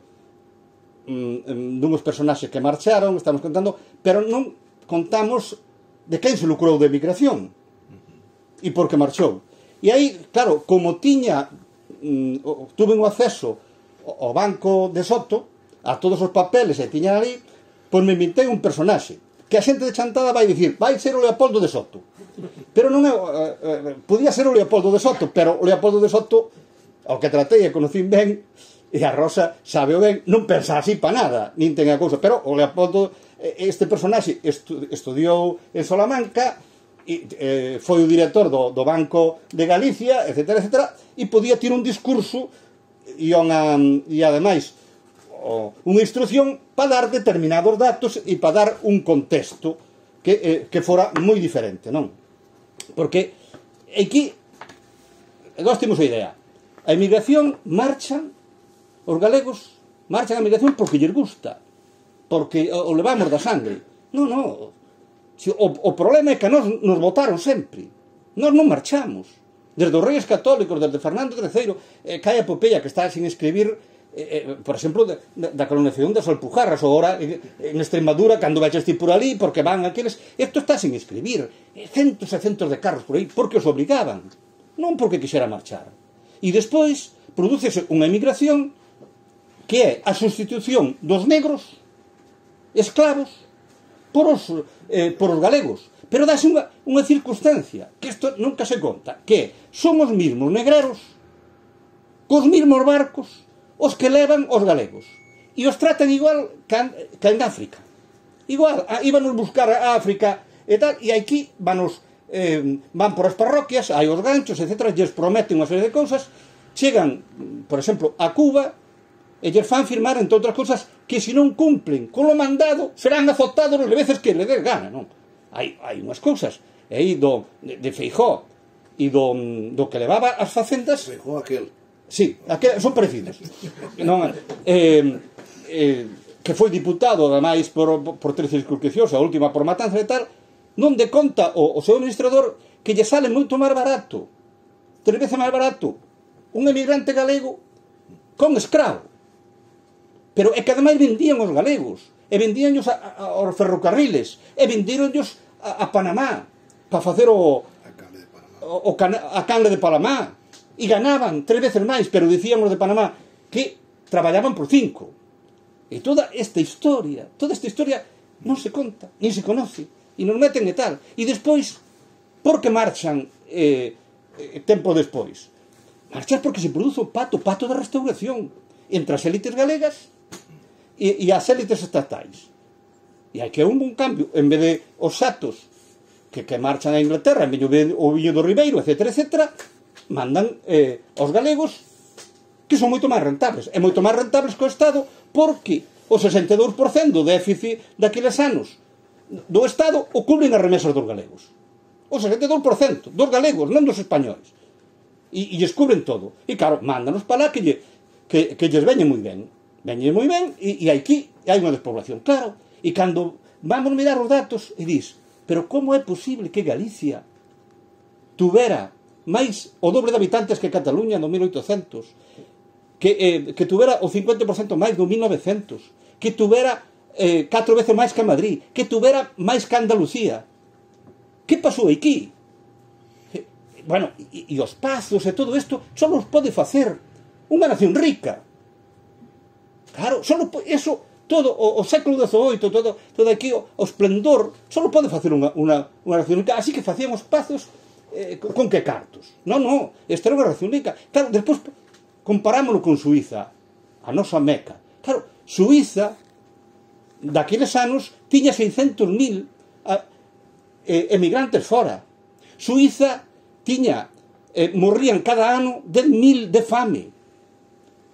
Speaker 2: mm, dunhos personaxes que marcharon, estamos contando, pero non contamos de quen se lucrou de emigración e por que marchou. E aí, claro, como tiña mm, tuve un acceso ao banco de Soto, a todos os papeles e tiña ali, pois me inventei un personaxe que a xente de Chantada vai dicir, vai ser o Leopoldo de Soto, pero non é, eh, eh, podía ser o Leopoldo de Soto, pero o Leopoldo de Soto, ao que tratei e conocín ben, e a Rosa sabe o ben, non pensa así pa nada, nin ten a cousa, pero o Leopoldo, este personaxe estu, estudiou en Salamanca, e, eh, foi o director do, do Banco de Galicia, etcétera, etcétera, e podía ter un discurso e, unha, e ademais unha instrucción para dar determinados datos e para dar un contexto que, eh, que fora moi diferente, non? Porque aquí nós temos a idea, a emigración marchan, os galegos marchan a emigración porque lles gusta, porque o levamos da sangre. Non, non, o, o problema é que nos, nos votaron sempre, nós non marchamos, desde os Reyes Católicos, desde Fernando terceiro, eh, cae a epopeia que está sin escribir, eh, por exemplo, de, de, da colonización das Alpujarras, ou ahora eh, en Extremadura, cando veches ti por ali, porque van aqueles, isto está sin escribir, eh, centos e centos de carros por aí, porque os obligaban, non porque quixera marchar. E despois, prodúcese unha emigración que é a sustitución dos negros esclavos por os, eh, por os galegos. Pero dáse unha, unha circunstancia que isto nunca se conta, que son os mismos negreros cos mismos barcos os que levan os galegos, e os tratan igual que en África, igual, íbanos buscar a África e tal, e aquí vanos, eh, van por as parroquias, hai os ganchos, etcétera, lles prometen unha serie de cousas, chegan, por exemplo, a Cuba, e lles fan firmar, entre outras cousas, que se non cumplen con lo mandado, serán azotados as veces que le des gana, non? Hai, hai unhas cousas, e aí do, de, de Feijó, e do, do que levaba as facendas...
Speaker 3: Feijó aquel...
Speaker 2: Sí, aquel, son parecidos. Non, eh, eh, que foi diputado, ademais, por, por trece circunscripcións, a última por matanza e tal, non de conta o, o seu administrador que lle sale moito máis barato, tres veces máis barato, un emigrante galego con escravo. Pero é que ademais vendían os galegos, e vendíanlos a, a, aos ferrocarriles, e vendíronlos a, a Panamá, para facer o, o, o cana, a canle de Panamá, e ganaban tres veces máis, pero dicían os de Panamá que traballaban por cinco. E toda esta historia, toda esta historia non se conta, nin se conoce, e nos meten e tal. E despois, por que marchan eh, eh, tempo despois? Marchar porque se produce o pato, pato da restauración, entre as élites galegas e, e as élites estatais. E hai que un bon cambio, en vez de os xatos que, que marchan a Inglaterra, en vez de o viño do Ribeiro, etcétera, etcétera, mandan eh, aos galegos que son moito máis rentables, e moito máis rentables que o Estado, porque o sesenta e dous por cento do déficit daqueles anos do Estado o cubren as remesas dos galegos, o sesenta e dous por cento dos galegos, non dos españoles, e, e lles cubren todo, e claro, mándanos para lá que, lle, que, que lles veñen moi ben, veñen moi ben, e, e aquí hai unha despoblación, claro, e cando vamos mirar os datos, e dis, pero como é posible que Galicia tuvera máis o doble de habitantes que Cataluña no mil oitocentos, que, eh, que tuvera o cincuenta por cento máis do mil novecientos, que tuvera eh, catro veces máis que Madrid, que tuvera máis que Andalucía. Que pasou aquí? Eh, bueno, e, e os pazos e todo isto só os pode facer unha nación rica. Claro, só eso, todo o, o século dezoito, todo, todo aquí o, o esplendor, só pode facer unha, unha, unha nación rica. Así que facían os pazos eh, con que cartos? Non, non, esta era unha nación rica. Claro, despois comparámoslo con Suiza, a nosa Meca. Claro, Suiza, daqueles anos, tiña seiscentos mil eh, emigrantes fora. Suiza tiña, eh, morrían cada ano dez mil de fame.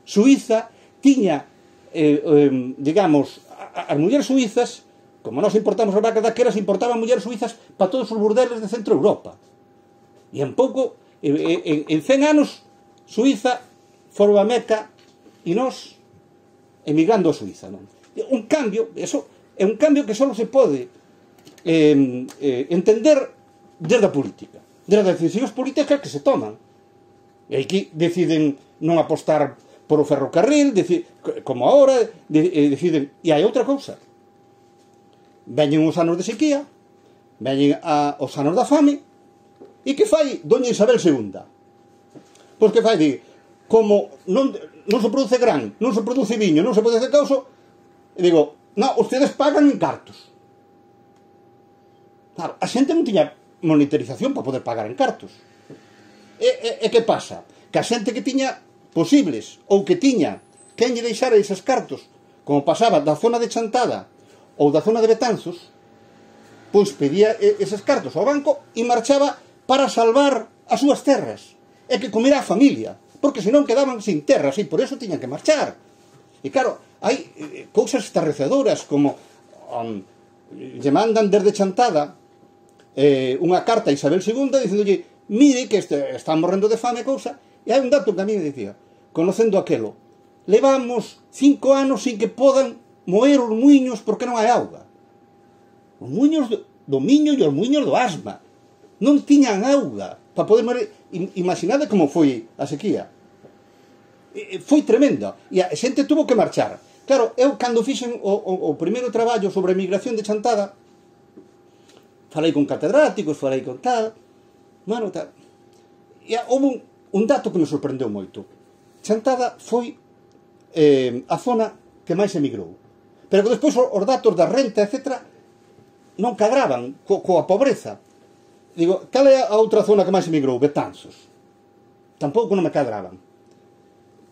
Speaker 2: Suiza tiña, eh, eh, digamos, as mulleres suizas, como nós importamos as vacas daquelas, importaban mulleres suizas para todos os burdeles de Centro Europa. E en pouco, en, en cen anos, Suiza foron a Meca e nós emigrando a Suiza. Non? Un cambio, eso é un cambio que só se pode eh, eh, entender desde a política, desde as decisións políticas que se toman. E aquí deciden non apostar por o ferrocarril, decide, como agora, de, eh, deciden. E hai outra cousa. Veñen os anos de sequía, veñen a, os anos da fame, e que fai doña Isabel segunda? Pois que fai, di, como non, non se produce gran, non se produce viño, non se produce causo, e digo, non, ustedes pagan en cartos. Claro, a xente non tiña monitorización para poder pagar en cartos. E, e, e que pasa? Que a xente que tiña posibles, ou que tiña quen lle deixara eses cartos, como pasaba da zona de Chantada ou da zona de Betanzos, pois pedía eses cartos ao banco e marchaba para salvar as súas terras, e que comera a familia, porque senón quedaban sin terras, e por eso tiñan que marchar. E claro, hai eh, cousas estarrecedoras, como um, lle mandan desde Chantada eh, unha carta a Isabel segunda dicendolle, mire que este, están morrendo de fame, cousa, e hai un dato que a mí me dicía, conocendo aquelo, levamos cinco anos sin que podan moer os muiños porque non hai auga. Os muiños do, do miño e os muiños do asma non tiñan auga para poder morir. Imaginade como foi a sequía. E, foi tremenda. E a xente tuvo que marchar. Claro, eu cando fixen o, o, o primeiro traballo sobre a migración de Chantada, falei con catedráticos, falei con tal, bueno, tal. E houve un, un dato que me sorprendeu moito. Chantada foi eh, a zona que máis emigrou. Pero que despois os datos da renta, etcétera, non cadraban co, coa pobreza. Digo, cal é a outra zona que máis emigrou? Betanzos. Tampouco non me cadraban.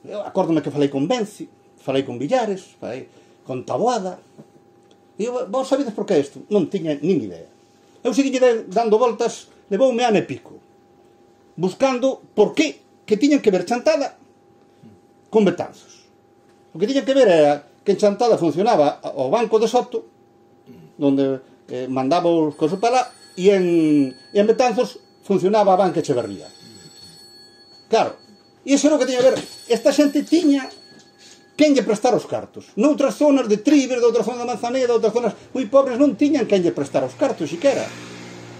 Speaker 2: Eu acórdome que falei con Benci, falei con Villares, falei con Taboada. E eu, vos sabedes por que isto? Non tiña nin idea. Eu segui dando voltas, levoume ano e pico, buscando por que que tiñan que ver Chantada con Betanzos. O que tiñan que ver era que en Chantada funcionaba o Banco de Soto, donde eh, mandaba os cosos para lá, e en, en Betanzos funcionaba a Banca Echeverría. Claro, e iso era o que tiña que ver. Esta xente tiña quen lle prestar os cartos. Noutras zonas de Triber, de outras zonas da Manzaneda, outras zonas moi pobres, non tiñan quen lle prestar os cartos, siquera.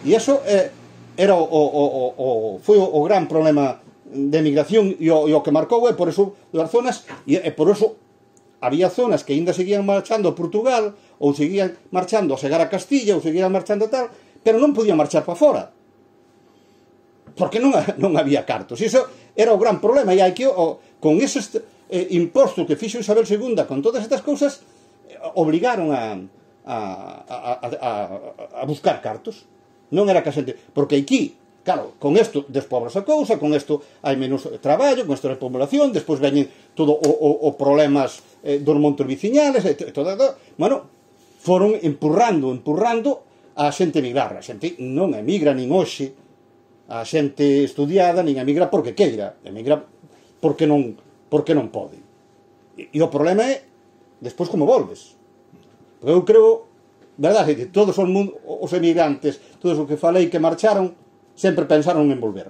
Speaker 2: E iso eh, era o, o, o, o, foi o, o gran problema de emigración e o, e o que marcou, e por eso das zonas, e, e por eso había zonas que ainda seguían marchando a Portugal, ou seguían marchando a chegar a Castilla, ou seguían marchando a tal, pero non podían marchar para fora, porque non, non había cartos. Iso era o gran problema, e hai que, o, con eses eh, impostos que fixo Isabel segunda, con todas estas cousas, eh, obligaron a, a, a, a, a buscar cartos. Non era que a xente, porque aquí, claro, con isto despobras a cousa, con isto hai menos traballo, con isto hai población, despois veñen todo o, o, o problemas eh, dos montes viciñales, e todo, todo, bueno, foron empurrando, empurrando a xente emigrar. A xente non emigra nin hoxe, a xente estudiada nin emigra porque queira, emigra porque non, porque non pode. E, e o problema é despois como volves. Porque eu creo, verdade, que todos os, os emigrantes, todos os que falei que marcharon, sempre pensaron en volver.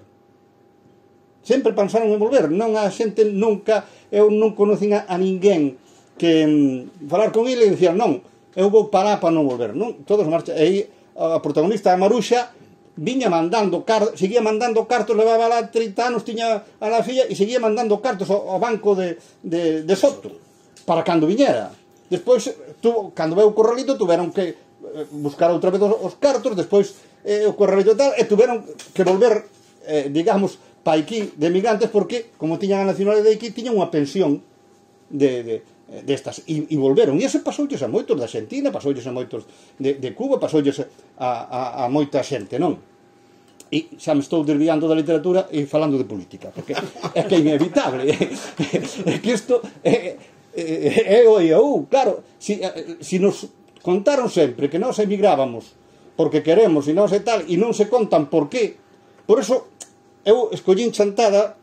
Speaker 2: Sempre pensaron en volver. Non a xente nunca, eu non conocín a, a ninguén que mm, falar con ele e dicían, non, eu vou parar para non volver. Non, todos marchan. E aí a protagonista, a Maruxa, viña mandando cartos, seguía mandando cartos, levaba lá trinta anos, tiña a la filla e seguía mandando cartos ao, ao banco de, de, de Soto para cando viñera. Despois, tu, cando veu o corralito, tuveron que buscar outra vez os, os cartos, despois eh, o corralito tal, e tuveron que volver, eh, digamos, pa aquí de migrantes, porque, como tiñan a nacionalidade de aquí, tiñan unha pensión de, de, destas, e, e volveron. E iso pasoulles a moitos da Argentina, pasoulles a moitos de, de Cuba, pasoulles a, a, a moita xente, non? E xa me estou desviando da literatura e falando de política, porque é que é inevitable. É que isto é, é, é o e o, claro, si, si nos contaron sempre que nós emigrábamos porque queremos e nós e tal, e non se contan por qué. Por eso, eu escollín chantada,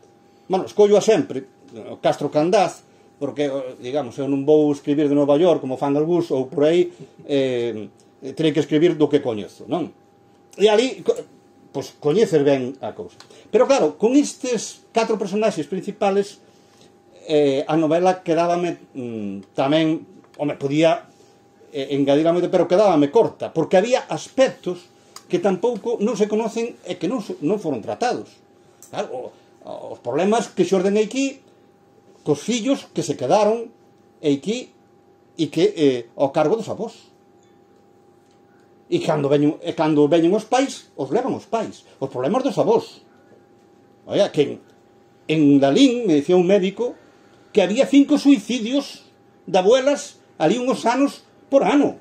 Speaker 2: bueno, escollo a sempre, o Castro Candás, porque, digamos, eu non vou escribir de Nova York como fan algúns, ou por aí, eh, terei que escribir do que coñezo, non? E ali, pois, coñecer ben a cousa. Pero, claro, con estes catro personaxes principales, eh, a novela quedábame mm, tamén, home, podía eh, engadir moito, pero quedábame corta, porque había aspectos que tampouco non se conocen e que non, non foron tratados. Claro, os problemas que xorden aquí, cos fillos que se quedaron aquí e que eh, ao cargo dos avós. E cando veñen, e cando veñen os pais, os levan os pais. Os problemas dos avós. Oia, que en, en Lalín, me dicía un médico, que había cinco suicidios de abuelas ali uns anos por ano.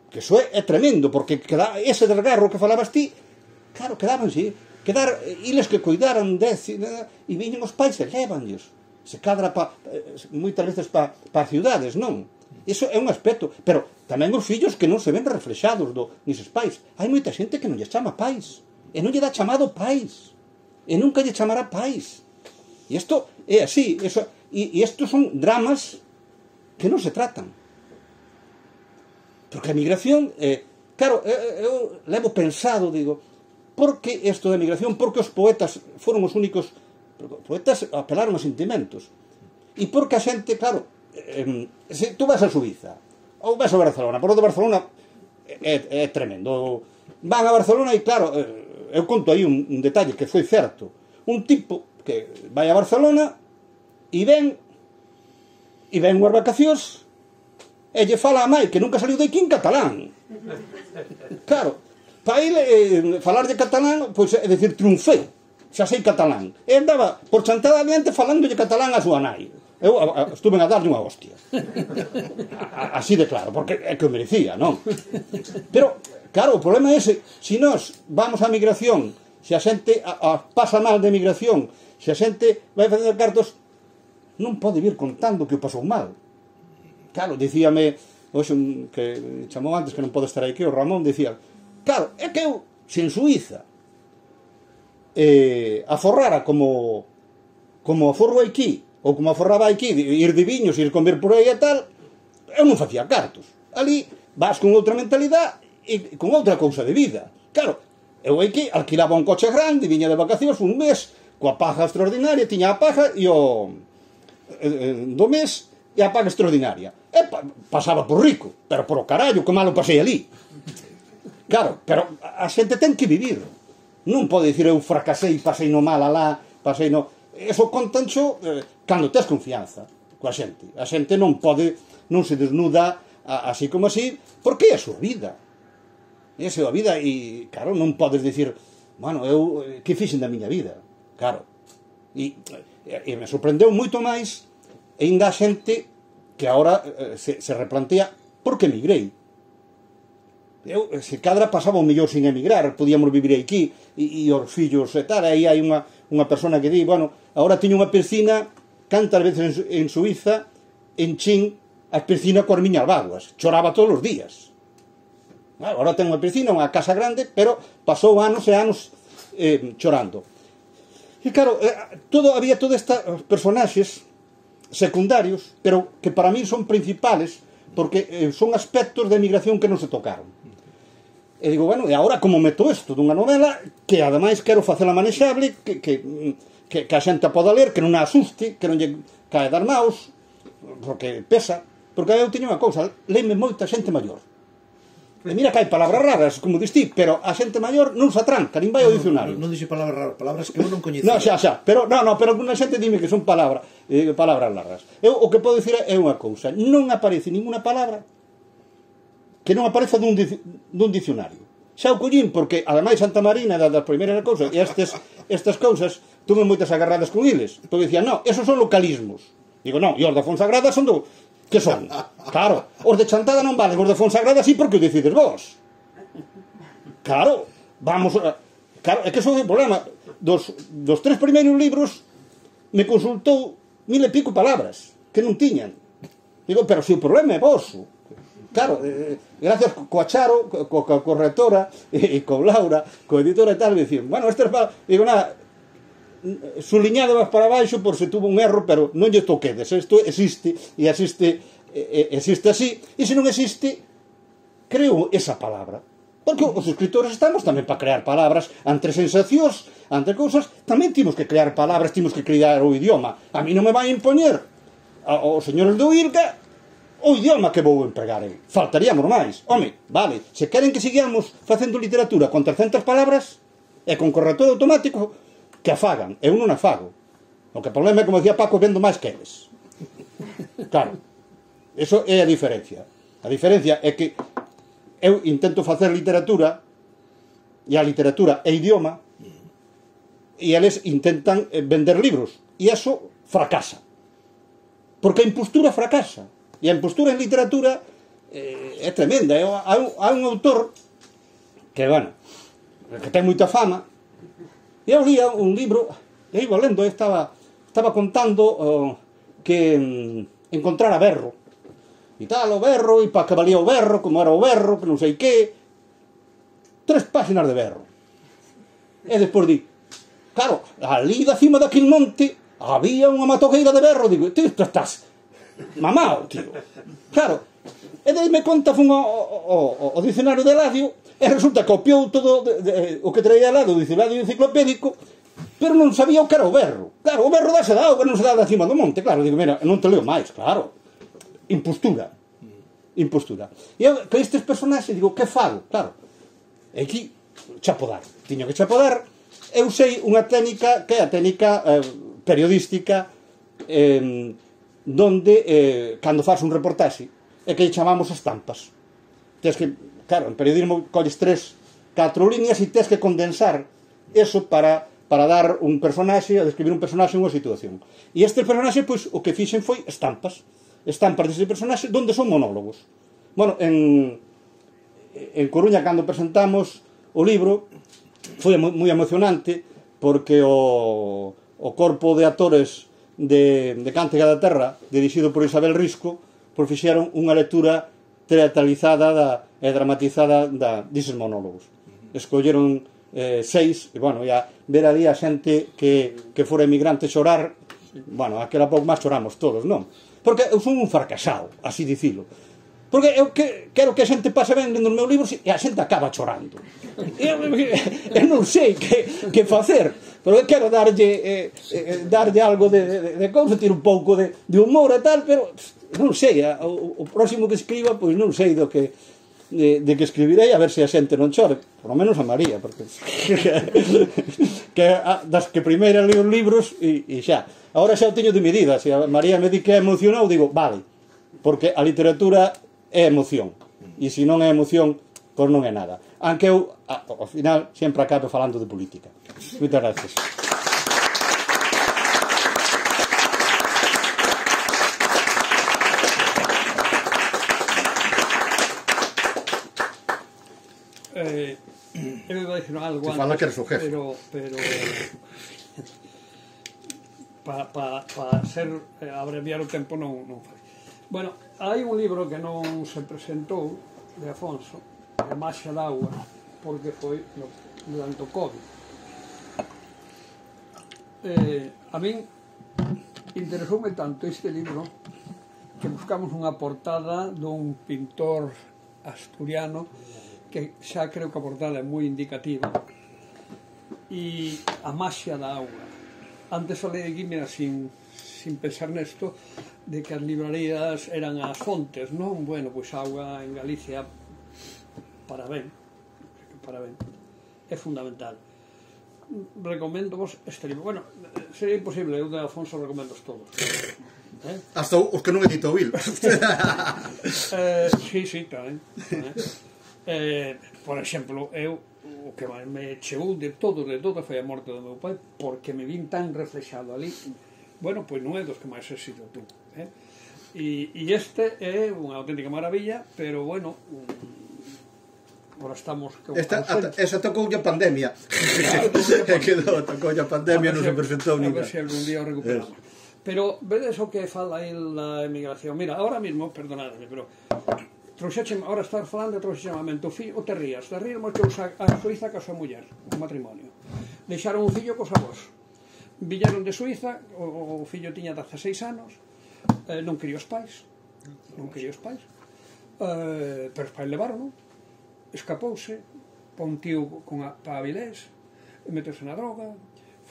Speaker 2: Que iso é, é tremendo, porque queda, ese desgarro que falabas ti, claro, quedaban, sí, quedar, iles que cuidaran dez, e viñen os pais e levanllos. Se cadra pa, moitas veces pa, pa ciudades, non? Iso é un aspecto, pero tamén os fillos que non se ven reflexados do, nisos pais. Hai moita xente que non lle chama pais, e non lle dá chamado pais, e nunca lle chamará pais. E isto é así, eso, e, e estos son dramas que non se tratan. Porque a migración, eh, claro, eu, eu levo pensado, digo, por que isto da migración? Porque os poetas foron os únicos, os poetas apelaron aos sentimentos. E porque a xente, claro, eh, se tú vas a Suiza ou vas a Barcelona, por o de Barcelona é, é tremendo, van a Barcelona e claro, eh, eu conto aí un, un detalle que foi certo, un tipo que vai a Barcelona e ven e ven unhas vacacións e lle fala a mai que nunca saliu de aquí en catalán. Claro, para ele eh, falar de catalán, pois é dicir, triunfei, xa sei catalán, e andaba por chantada adiante falándolle catalán a súa nai. Eu a, a, estuve a darlle unha hostia. A, así de claro, porque é que o merecía, non? Pero, claro, o problema é ese. Se nós vamos á migración, se a xente a, a, pasa mal de migración, se a xente vai facer cartos, non pode vir contando que o pasou mal. Claro, dicíame, hoxe, que chamou antes, que non pode estar aquí, o Ramón, dicía, claro, é que eu, se en Suiza eh, aforrara como como aforro aquí, ou como aforraba aquí, ir de viños, ir comer por aí e tal, eu non facía cartos. Ali vas con outra mentalidade e con outra cousa de vida. Claro, eu aquí alquilaba un coche grande, viña de vacacións un mes, coa paja extraordinaria, tiña a paja e o eh, do mes e a paga extraordinaria. E pa, pasaba por rico, pero por o carallo, que malo pasei ali. Claro, pero a xente ten que vivir. Non pode dicir eu fracasei, pasei no mal alá, pasei no... Eso contanxo eh, cando tes confianza coa xente. A xente non pode, non se desnuda a, así como así, porque é a súa vida. É a súa vida e, claro, non podes dicir, bueno, eu, que fixen da miña vida? Claro. E, e me sorprendeu moito máis ainda a xente que agora eh, se, se replantea por que emigrei. Eu, se cadra pasaba o mellor sin emigrar, podíamos vivir aquí e, e os fillos e tal, aí hai unha, unha persona que di, bueno, agora teño unha piscina, cantas veces en, en Suiza enchín a piscina coas miñas vaguas, choraba todos os días. Agora ten unha piscina, unha casa grande, pero pasou anos e anos eh, chorando. E claro, eh, todo, había todos estes personaxes secundarios, pero que para mí son principales, porque eh, son aspectos de emigración que non se tocaron. E digo, bueno, e agora como meto isto dunha novela que ademais quero facela manexable, que, que, que, que a xente poda ler, que non a asuste, que non lle cae dar maus, porque pesa, porque eu teño unha cousa, leime moita xente maior. E mira que hai palabras raras, como dis ti, pero a xente maior non se atranca, nin vai ao dicionario.
Speaker 3: Non dixe palabras raras, palabras que eu non coñecía.
Speaker 2: Non, xa, xa, pero non, non, pero alguna xente dime que son palabras, eh, palabras largas. Eu o que podo dicir é unha cousa, non aparece ninguna palabra que non apareza dun, dun dicionario. Xa o collín, porque ademais Santa Marina das primeiras cousas, e estes, estas cousas tuve moitas agarradas con eles, porque dicían, non, esos son localismos. Digo, non, e os da Fonsagrada son do... Que son? Claro, os de Chantada non valen, os de Fonsagrada sí porque o decides vos. Claro, vamos a... Claro, é que son o problema. Dos, dos tres primeiros libros me consultou mil e pico palabras que non tiñan. Digo, pero se o problema é vosso. Claro, eh, gracias coa Charo, coa correctora e con Laura, coa editora e tal, dicían, bueno, estas palabras... Digo, nada, suliñado vas para baixo por se tuvo un erro, pero non lle toquedes, isto existe e existe, existe así, e se non existe creo esa palabra, porque os escritores estamos tamén para crear palabras entre sensacións, entre cousas, tamén temos que crear palabras, temos que crear o idioma. A mí non me vai impoñer aos señores do I R C A o idioma que vou empregar eu, faltaríamos máis. Home, vale, se queren que sigamos facendo literatura con trescentas palabras e con corrector automático, que afagan, eu non afago. O que problema é, como decía Paco, vendo máis que eles. Claro, eso é a diferencia. A diferencia é que eu intento facer literatura, e a literatura é idioma, e eles intentan vender libros, e eso fracasa. Porque a impostura fracasa. E a impostura en literatura eh, é tremenda. Hai un, hai un autor que, bueno, que ten moita fama. E eu lia un libro, e iba lendo, estaba, estaba contando uh, que um, encontrara berro. E tal, o berro, e para que valía o berro, como era o berro, que non sei que. Tres páxinas de berro. E despois di, claro, ali da cima daquele monte había unha matogueira de berro. Digo, tío, isto estás mamao, tío. Claro, e daí me conta, fun ao, ao, ao dicionario de Ladio, e resulta que copiou todo de, de, o que traía al lado do dicionario enciclopédico, pero non sabía o que era o berro. Claro, o berro dase da auga, non se dá da cima do monte. Claro, digo, mira, non te leo máis, claro. Impostura. Impostura. E eu, que estes personaxes, digo, que fago? Claro, e aquí, chapodar. Tiño que chapodar. Eu sei unha técnica, que é a técnica eh, periodística, eh, donde, eh, cando faz un reportaxe, é que chamamos estampas. Tens que, claro, en periodismo colles tres, catro líneas e tens que condensar eso para, para dar un personaxe, a describir un personaxe en unha situación. E este personaxe, pois, o que fixen foi estampas. Estampas dese personaxe, donde son monólogos. Bueno, en, en Coruña, cando presentamos o libro, foi moi emocionante, porque o, o corpo de actores de, de Cántiga da Terra, dirixido por Isabel Risco, pois fixeron unha lectura teatralizada da, e dramatizada da, dises monólogos. Escolleron eh, seis, e bueno, ya ver ali a xente que, que fora emigrante chorar, bueno, aquela pouco máis choramos todos, non? Porque eu son un fracasado, así dicilo. Porque eu que, quero que a xente pase ben lendo os meus libros e a xente acaba chorando. Eu, eu non sei que, que facer, pero eu quero darlle, eh, eh, darlle algo de, de, de cousa, tiro un pouco de, de humor e tal, pero non sei, o, o próximo que escriba, pois non sei do que de, de que escribirei, a ver se a xente non chore, por lo menos a María, porque que a, das que primeira leo os libros e, e xa. Agora xa o teño de medida, se a María me di que é emocionado, digo, vale, porque a literatura é emoción, e se non é emoción, pois non é nada. Aunque eu, ao final, sempre acabo falando de política. Moitas gracias.
Speaker 1: Eh, eu iba a dicir algo antes,
Speaker 2: fala que eres o jefe.
Speaker 1: pero, pero para pa, pa ser eh, abreviar o tempo non, non fai. Bueno, hai un libro que non se presentou de Afonso, A Maxia da Auga, porque foi no, durante o COVID. Eh, a min interesoume tanto este libro que buscamos unha portada dun pintor asturiano que xa creo que a portada é moi indicativa, e A Maxia da Auga. Antes falei aquí, mira, sin, sin pensar nesto, de que as librarías eran as fontes, non? Bueno, pois a auga en Galicia para ben, para ben, é fundamental. Recomendo vos este libro. Bueno, sería imposible, eu de Alfonso recomendo todos. Eh?
Speaker 2: Hasta os que non edito o Vil.
Speaker 1: eh, sí, sí, tamén. Eh, por exemplo, eu o que me chegou de todo, de todo foi a morte do meu pai, porque me vin tan reflexado ali. Bueno, pois non é dos que máis éxito tuvo, eh? E, e este é unha auténtica maravilla, pero bueno, agora estamos...
Speaker 2: Esta, ata, esa tocou a pandemia. Claro, quedou, tocou a pandemia, non se presentou
Speaker 1: ni
Speaker 2: nada.
Speaker 1: A ver se algún día o recuperamos. Es. Pero, vedes o que fala aí la emigración? Mira, ahora mismo, perdonadme, pero... Trouxeche, ahora estar falando de trouxechamento, o fillo, o te rías, te rías que a Suiza ca súa muller, un matrimonio. Deixaron un fillo cos avós. Villaron de Suiza, o, o fillo tiña dezaseis anos, eh, non quería os pais, non quería os pais, eh, pero os pais levaron, non? Escapouse, pon tío con a, pa Avilés, metese na droga,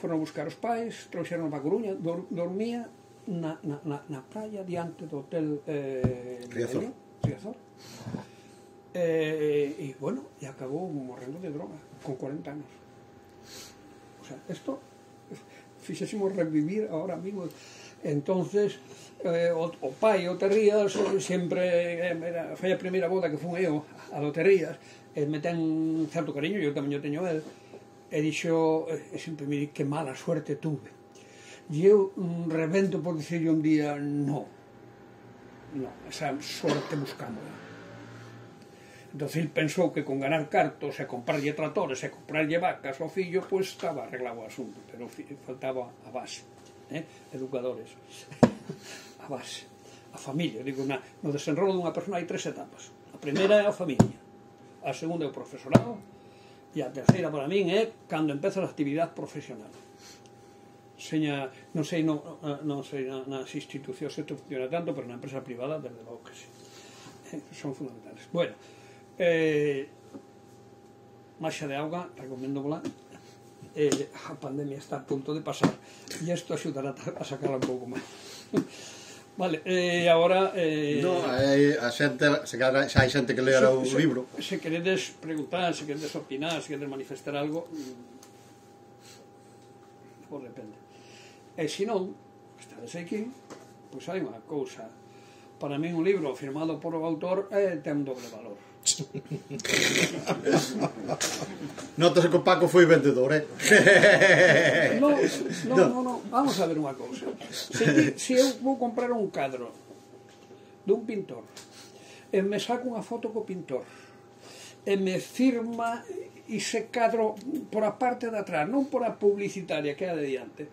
Speaker 1: foron a buscar os pais, trouxeron pa Coruña, dor, dormía na, na, na, na praia diante do hotel eh,
Speaker 2: Riazor.
Speaker 1: Riazor. Eh, e bueno, e acabou morrendo de droga con cuarenta anos. O sea, esto fixésemos revivir ahora mismo. Entonces eh, o, o pai, o Terrías, sempre era, foi a primeira boda que fun eu a do Terrías, e me ten certo cariño, eu tamén o teño el, e dixo, e sempre me di que mala suerte tuve, e eu mm, revento por dicirle un día no, no, esa suerte buscándola. Entón, ele pensou que con ganar cartos e comprarlle tratores e comprarlle vacas ao fillo, pois estaba arreglado o asunto, pero faltaba a base, eh? Educadores, a base, a familia. Digo, na, no desenrolo dunha persona hai tres etapas. A primeira é a familia, a segunda é o profesorado, e a terceira para min é cando empeza a actividade profesional. Seña, non sei, non, non sei nas institucións isto funciona tanto, pero na empresa privada, desde logo que sí. Eh, son fundamentales. Bueno, eh, Marxa de auga, recomendo volar. Eh, a pandemia está a punto de pasar e isto axudará a sacarla un pouco máis. Vale, e eh, agora eh,
Speaker 2: no, eh, a xente, se cada, xa hai xente que lera o
Speaker 1: se,
Speaker 2: libro.
Speaker 1: Se queredes preguntar, se queredes opinar, se queredes manifestar algo, pois depende. E se non, estades aquí, pois hai unha cousa. Para min un libro firmado por o autor eh, ten un doble valor.
Speaker 2: Notase que o Paco foi vendedor, eh?
Speaker 1: No, no, no, no, vamos a ver unha cousa. Se, se eu vou comprar un cadro dun pintor e me saco unha foto co pintor e me firma ese cadro por a parte de atrás, non por a publicitaria que é a de diante,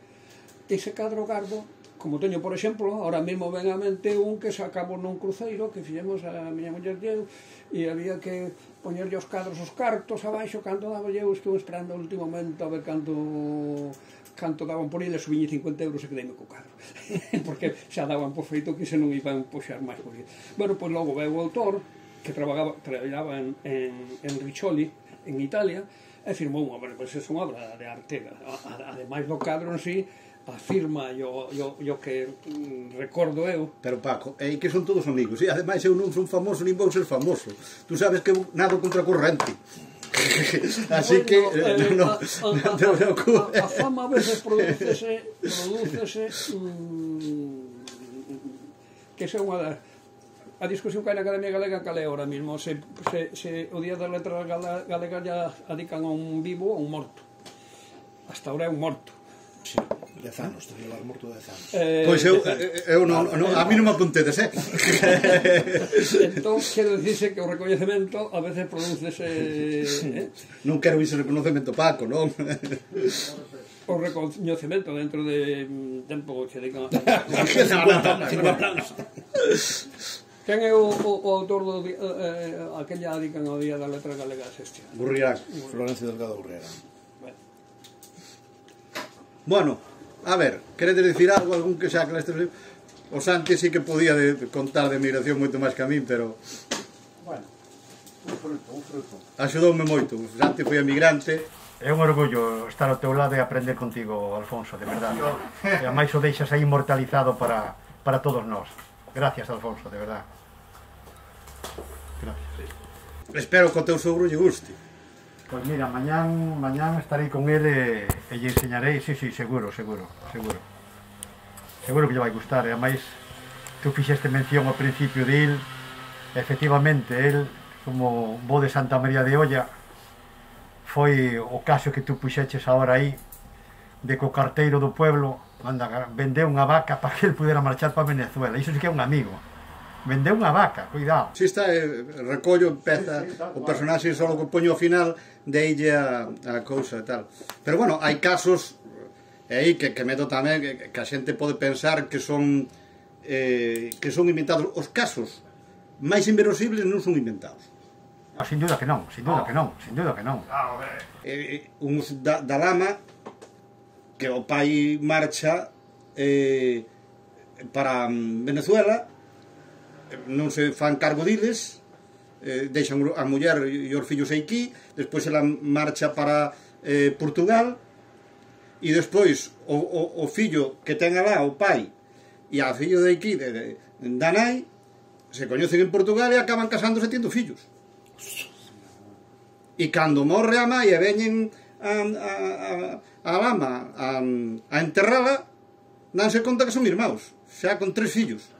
Speaker 1: ese cadro gardo, como teño, por exemplo, ahora mesmo ven a mente un que sacamos nun cruceiro que fixemos a miña muller e eu, e había que poñerlle os cadros os cartos abaixo, canto daba eu, estou esperando o último momento a ver canto canto daban por ele, subiñe cincuenta euros e quedeime co cadro porque xa daban por feito que se non iban puxar máis por ele. Bueno, pois logo veo o autor que traballaba, traballaba en, en, en Riccioli, en Italia, e firmou unha obra, pois é unha obra de arte, ademais do cadro en sí, a firma e o, o, o que mm, recordo eu.
Speaker 2: Pero Paco, é que son todos amigos, e ademais eu non son famoso nin vou ser famoso. Tú sabes que eu nado contra corrente. Así
Speaker 1: bueno,
Speaker 2: que
Speaker 1: eh,
Speaker 2: no,
Speaker 1: a, a,
Speaker 2: no, no, no,
Speaker 1: a, a fama a veces producese producese mm, que é unha das a discusión que hai na Academia Galega cal é ahora mismo, se, se, se o Día das Letras Galegas ya adican a un vivo ou un morto. Hasta ahora é un morto.
Speaker 3: Sí, dez anos, te llevar morto dez anos.
Speaker 1: Eh,
Speaker 2: pois eu, eu non, non, a mí non me apuntedes, eh?
Speaker 1: Entón, quero dicirse que o recoñecemento a veces producese... Eh?
Speaker 2: Non quero iso reconocemento, Paco, non?
Speaker 1: O recoñecemento dentro de tempo que dedican a... Quen é o, o, o autor do eh, aquella dedican ao Día das Letras Galegas este ano?
Speaker 2: Gurrián.
Speaker 3: Florencio Delgado Gurrián.
Speaker 2: Bueno, a ver, queredes dicir algo, algún que xa que nestes libros? O Santi sí que podía de, de contar de migración moito máis que a min, pero...
Speaker 4: Bueno, un fruto, un fruto.
Speaker 2: Axudoume moito, o Santi foi emigrante.
Speaker 4: É un orgullo estar ao teu lado e aprender contigo, Alfonso, de verdade. E a máis o deixas aí inmortalizado para, para todos nós. Gracias, Alfonso, de verdade. Gracias.
Speaker 2: Espero que o teu sogro lle guste.
Speaker 4: Pois mira, mañán, mañán estarei con ele e lle enseñarei, sí, sí, seguro, seguro, seguro. Seguro que lle vai gustar, e ademais, tú fixeste mención ao principio de il, efectivamente, el, como bo de Santa María de Olla, foi o caso que tú puxeches agora aí, de que o carteiro do pueblo anda, vendeu unha vaca para que ele pudera marchar para Venezuela. Iso sí que é un amigo. Vendeu unha vaca, cuidado.
Speaker 2: Si está, eh, recollo, empeza sí, sí, o personaxe só que poño ao final deille a, a cousa e tal. Pero bueno, hai casos e aí que, que meto tamén que, que a xente pode pensar que son eh, que son inventados. Os casos máis inverosíbles non son inventados.
Speaker 4: No, sin duda que non, sin duda oh. que non, sin duda que non.
Speaker 2: Eh, uns da, da lama que o pai marcha eh, para Venezuela, non se fan cargo diles, eh, deixan a muller e os fillos aquí, despois ela marcha para eh, Portugal, e despois o, o, o fillo que ten alá, o pai, e a fillo de aquí, de, de, da nai, se coñecen en Portugal e acaban casándose tendo fillos. E cando morre a mai e veñen a, a, a, a lama a, a enterrala, danse conta que son irmãos, xa con tres fillos.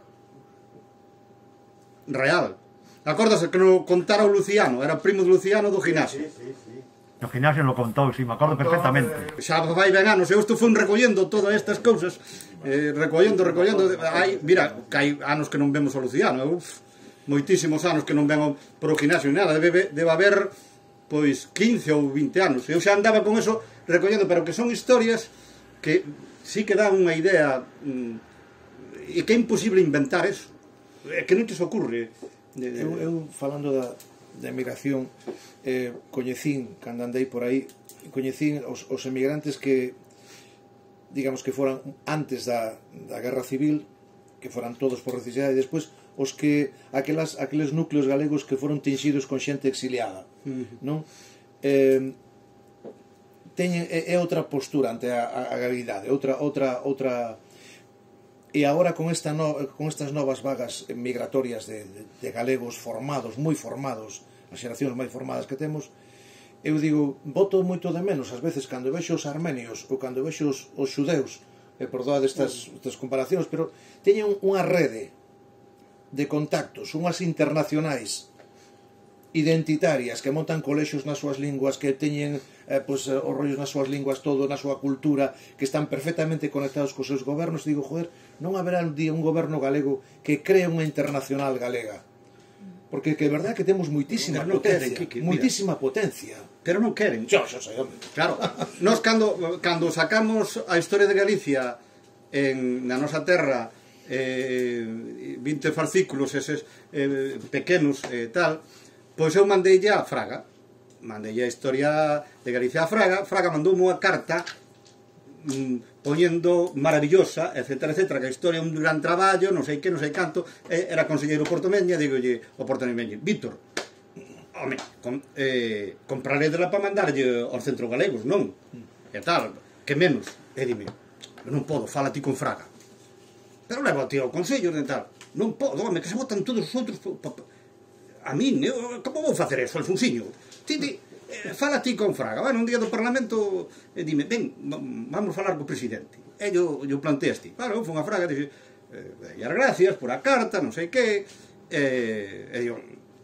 Speaker 2: Real. Acórdase que no contara o Luciano, era primo de Luciano do gimnasio.
Speaker 4: Sí, sí, sí. No gimnasio lo contou, si, sí, me acordo perfectamente.
Speaker 2: Xa vai ben anos, eu estou fui recollendo todas estas cousas, eh, recollendo, recollendo, hai, mira, que hai anos que non vemos o Luciano, uf, moitísimos anos que non vengo por o gimnasio ni nada, debe, debe haber, pois, quince ou vinte anos, eu xa andaba con eso recollendo, pero que son historias que sí que dan unha idea, mm, e que é imposible inventar eso. É que non te se ocurre.
Speaker 3: Eu, eu falando da, da emigración, eh, coñecín, cando andei por aí, coñecín os, os emigrantes que, digamos que foran antes da, da Guerra Civil, que foran todos por necesidade, e despois os que, aquelas, aqueles núcleos galegos que foron tinxidos con xente exiliada, uh-huh. non? Eh, teñen, é, é outra postura ante a, a, a realidade, outra, outra, outra. E agora con, esta no, con estas novas vagas migratorias de, de, de galegos formados, moi formados, as xeracións máis formadas que temos, eu digo, boto moito de menos ás veces cando vexo os armenios ou cando vexo os, os xudeus, e perdoad estas, estas comparacións, pero teñen unha rede de contactos, unhas internacionais identitarias que montan colexios nas súas linguas, que teñen eh, pues, os rollos nas súas linguas, todo na súa cultura, que están perfectamente conectados cos seus gobernos. Digo, joder, non haberá un día un goberno galego que cree unha internacional galega, porque que é verdade que temos moitísima
Speaker 2: no,
Speaker 3: potencia,
Speaker 2: queren, que, que,
Speaker 3: moitísima potencia,
Speaker 2: pero non queren.
Speaker 3: Yo, yo sei, hombre.
Speaker 2: Claro, nos cando, cando sacamos a historia de Galicia en, na nosa terra, eh, vinte fascículos eses eh, pequenos e eh, tal, pois eu mandei a Fraga, mandei a historia de Galicia a Fraga. Fraga mandou unha carta mmm, poñendo maravillosa, etcétera, etcétera, que a historia é un gran traballo, non sei que, non sei canto, era conselleiro portomeña, digolle o portomeña, Víctor, home, com, eh, compraré dela para mandarlle aos centros galegos, non? E tal, que menos, e dime, non podo, fala ti con Fraga, pero levo a ti ao consello, e tal, non podo, home, que se botan todos os outros, a min, eu, como vou facer eso, Alfonsiño? Ti, ti, eh, fala ti con Fraga, bueno, un día do Parlamento, e dime, ven, vamos falar co presidente. E yo, yo planteaste, claro, eu fui a Fraga, dixe, eh, e as gracias por a carta, non sei que, eh, e yo,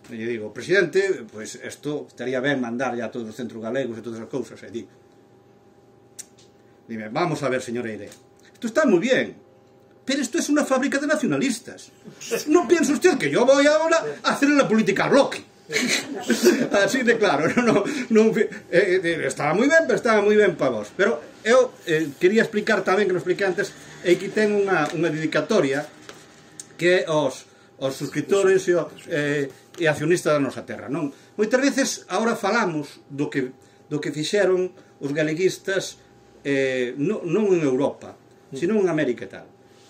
Speaker 2: e yo digo, presidente, pois pues, isto estaría ben mandar ya a todos os centros galegos e todas as cousas, e digo, dime, vamos a ver, señora Eire, isto está moi bien, pero esto es una fábrica de nacionalistas. No piensa usted que yo voy ahora a hacer la política al bloque. Así de claro, no, no, no, eh, eh, estaba moi ben, pero estaba moi ben para vos. Pero eu eh, quería explicar tamén, que non expliquei antes, e que ten unha, unha dedicatoria que os, os suscriptores e, o, eh, e accionistas da nosa terra, non? Moitas veces agora falamos do que, do que fixeron os galeguistas eh, non, non en Europa, sino en América e tal.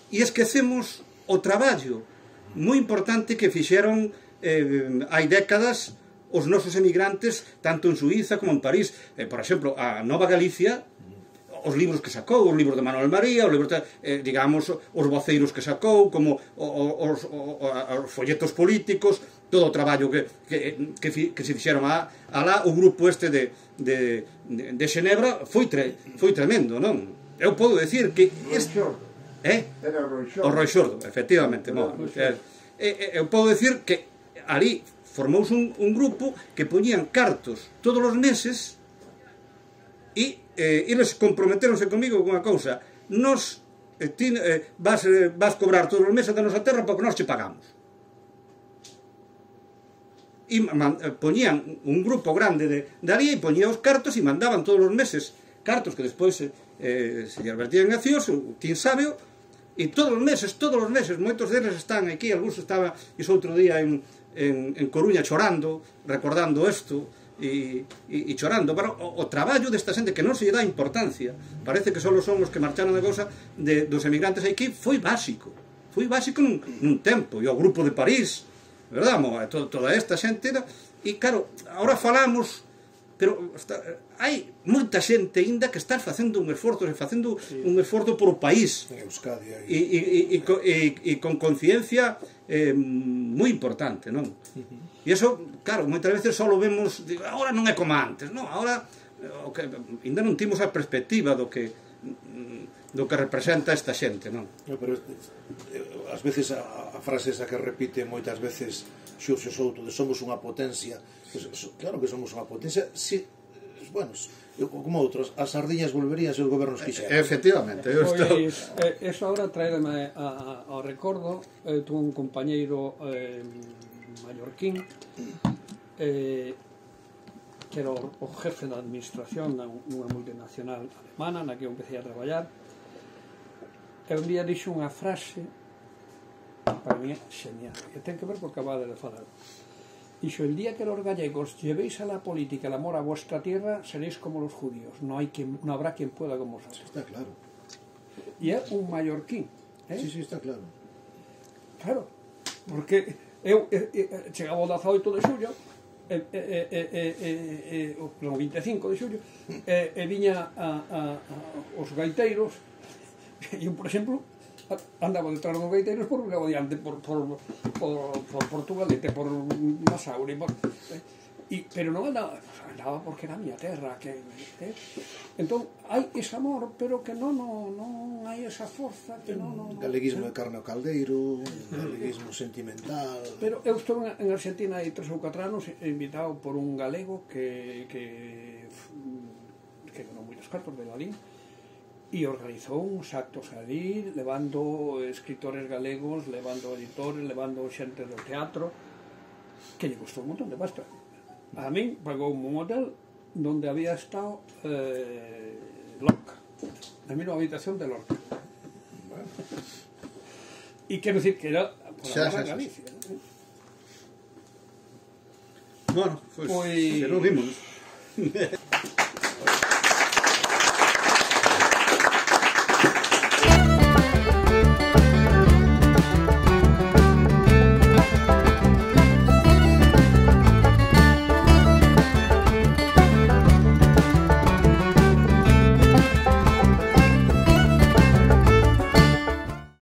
Speaker 2: E esquecemos o traballo moi importante que fixeron eh, hai décadas os nosos emigrantes, tanto en Suíza como en París. Eh, por exemplo, a Nova Galicia, os libros que sacou, os libros de Manuel María, os libros, de, eh, digamos, os voceiros que sacou, como os, os, os folletos políticos, todo o traballo que, que, que, que se fixeron a, a lá, o grupo este de, de, de, de Xenebra foi, tre, foi tremendo, non? Eu podo decir que... Este, eh?
Speaker 5: Era o Roi Xordo.
Speaker 2: O Roi Xordo, efectivamente. Mo, eh, eh, eu podo decir que ali formouse un, un grupo que poñían cartos todos os meses e eh, eles comprometeronse comigo con unha cousa: nos eh, ti, eh, vas, eh, vas cobrar todos os meses da nosa terra porque nós che pagamos. E man, eh, poñían un grupo grande de, de ali e poñía os cartos e mandaban todos os meses cartos que despois eh, se lle vertían en accións, quen sábeo, e todos os meses, todos os meses, moitos deles están aquí, algúns estaba iso outro día en, en, en Coruña chorando, recordando isto, e, e, e chorando, pero o, o traballo desta xente que non se lle dá importancia, parece que só son os que marcharon de cousa de, dos emigrantes aquí, foi básico, foi básico nun, nun tempo, e o grupo de París, verdad, mo, to, toda esta xente, e claro, agora falamos, pero está, hai moita xente ainda que está facendo un esforzo, facendo sí. un esforzo por o país, e, e, e, e, e con conciencia eh, moi importante, non? Uh-huh. E iso, claro, moitas veces só lo vemos, digo, agora non é como antes, non, agora o que, ainda non timos a perspectiva do que do que representa esta xente, non?
Speaker 3: No, pero ás veces a, a frase esa que repite moitas veces Xurxo Souto de somos unha potencia, claro que somos unha potencia, si, bueno, como outros, as sardiñas volverían se os gobernos quixeran.
Speaker 2: Efectivamente.
Speaker 1: Pois, eh, eso agora traerme ao recordo, eu tuve un compañeiro eh, mallorquín eh, que era o, o jefe da administración nunha multinacional alemana na que eu empecé a traballar, e un día dixo unha frase para mí genial, que ten que ver co que acabade de falar. Dixo: el día que los gallegos llevéis a la política el amor a vuestra tierra, seréis como los judíos, no hay quien, no habrá quien pueda con vosotros.
Speaker 3: Está claro.
Speaker 1: E é un mallorquín, eh?
Speaker 3: Sí, sí, está claro.
Speaker 1: Claro, porque eu eh, eh, chegaba o dezaoito de xullo, e, e, e, e, e, e, o vinte e cinco de xullo, e, e viña a, a, a, os gaiteiros, e eu, por exemplo, andaba detrás dos gaiteiros por un diante por, por, por, por Portugalete, por Masaure, por, eh, y, pero non andaba, andaba porque era a miña terra, que, eh, entón hai ese amor, pero que non, non, non hai esa forza, que non, non,
Speaker 3: galeguismo de carne ao caldeiro, galeguismo sentimental.
Speaker 1: Pero eu estou en Argentina hai tres ou catro anos invitado por un galego que que que ganou moitos cartos de Lalín, e organizou uns actos ali, levando escritores galegos, levando editores, levando xente do teatro, que lle costou un montón de pasta. A min pagou un hotel donde había estado eh, Lorca, a mí unha habitación de Lorca. E quero dicir que era por
Speaker 2: xa,
Speaker 1: a
Speaker 2: xa,
Speaker 1: Galicia.
Speaker 2: Xa. Bueno, pois, pues,
Speaker 1: pues,
Speaker 2: que non vimos.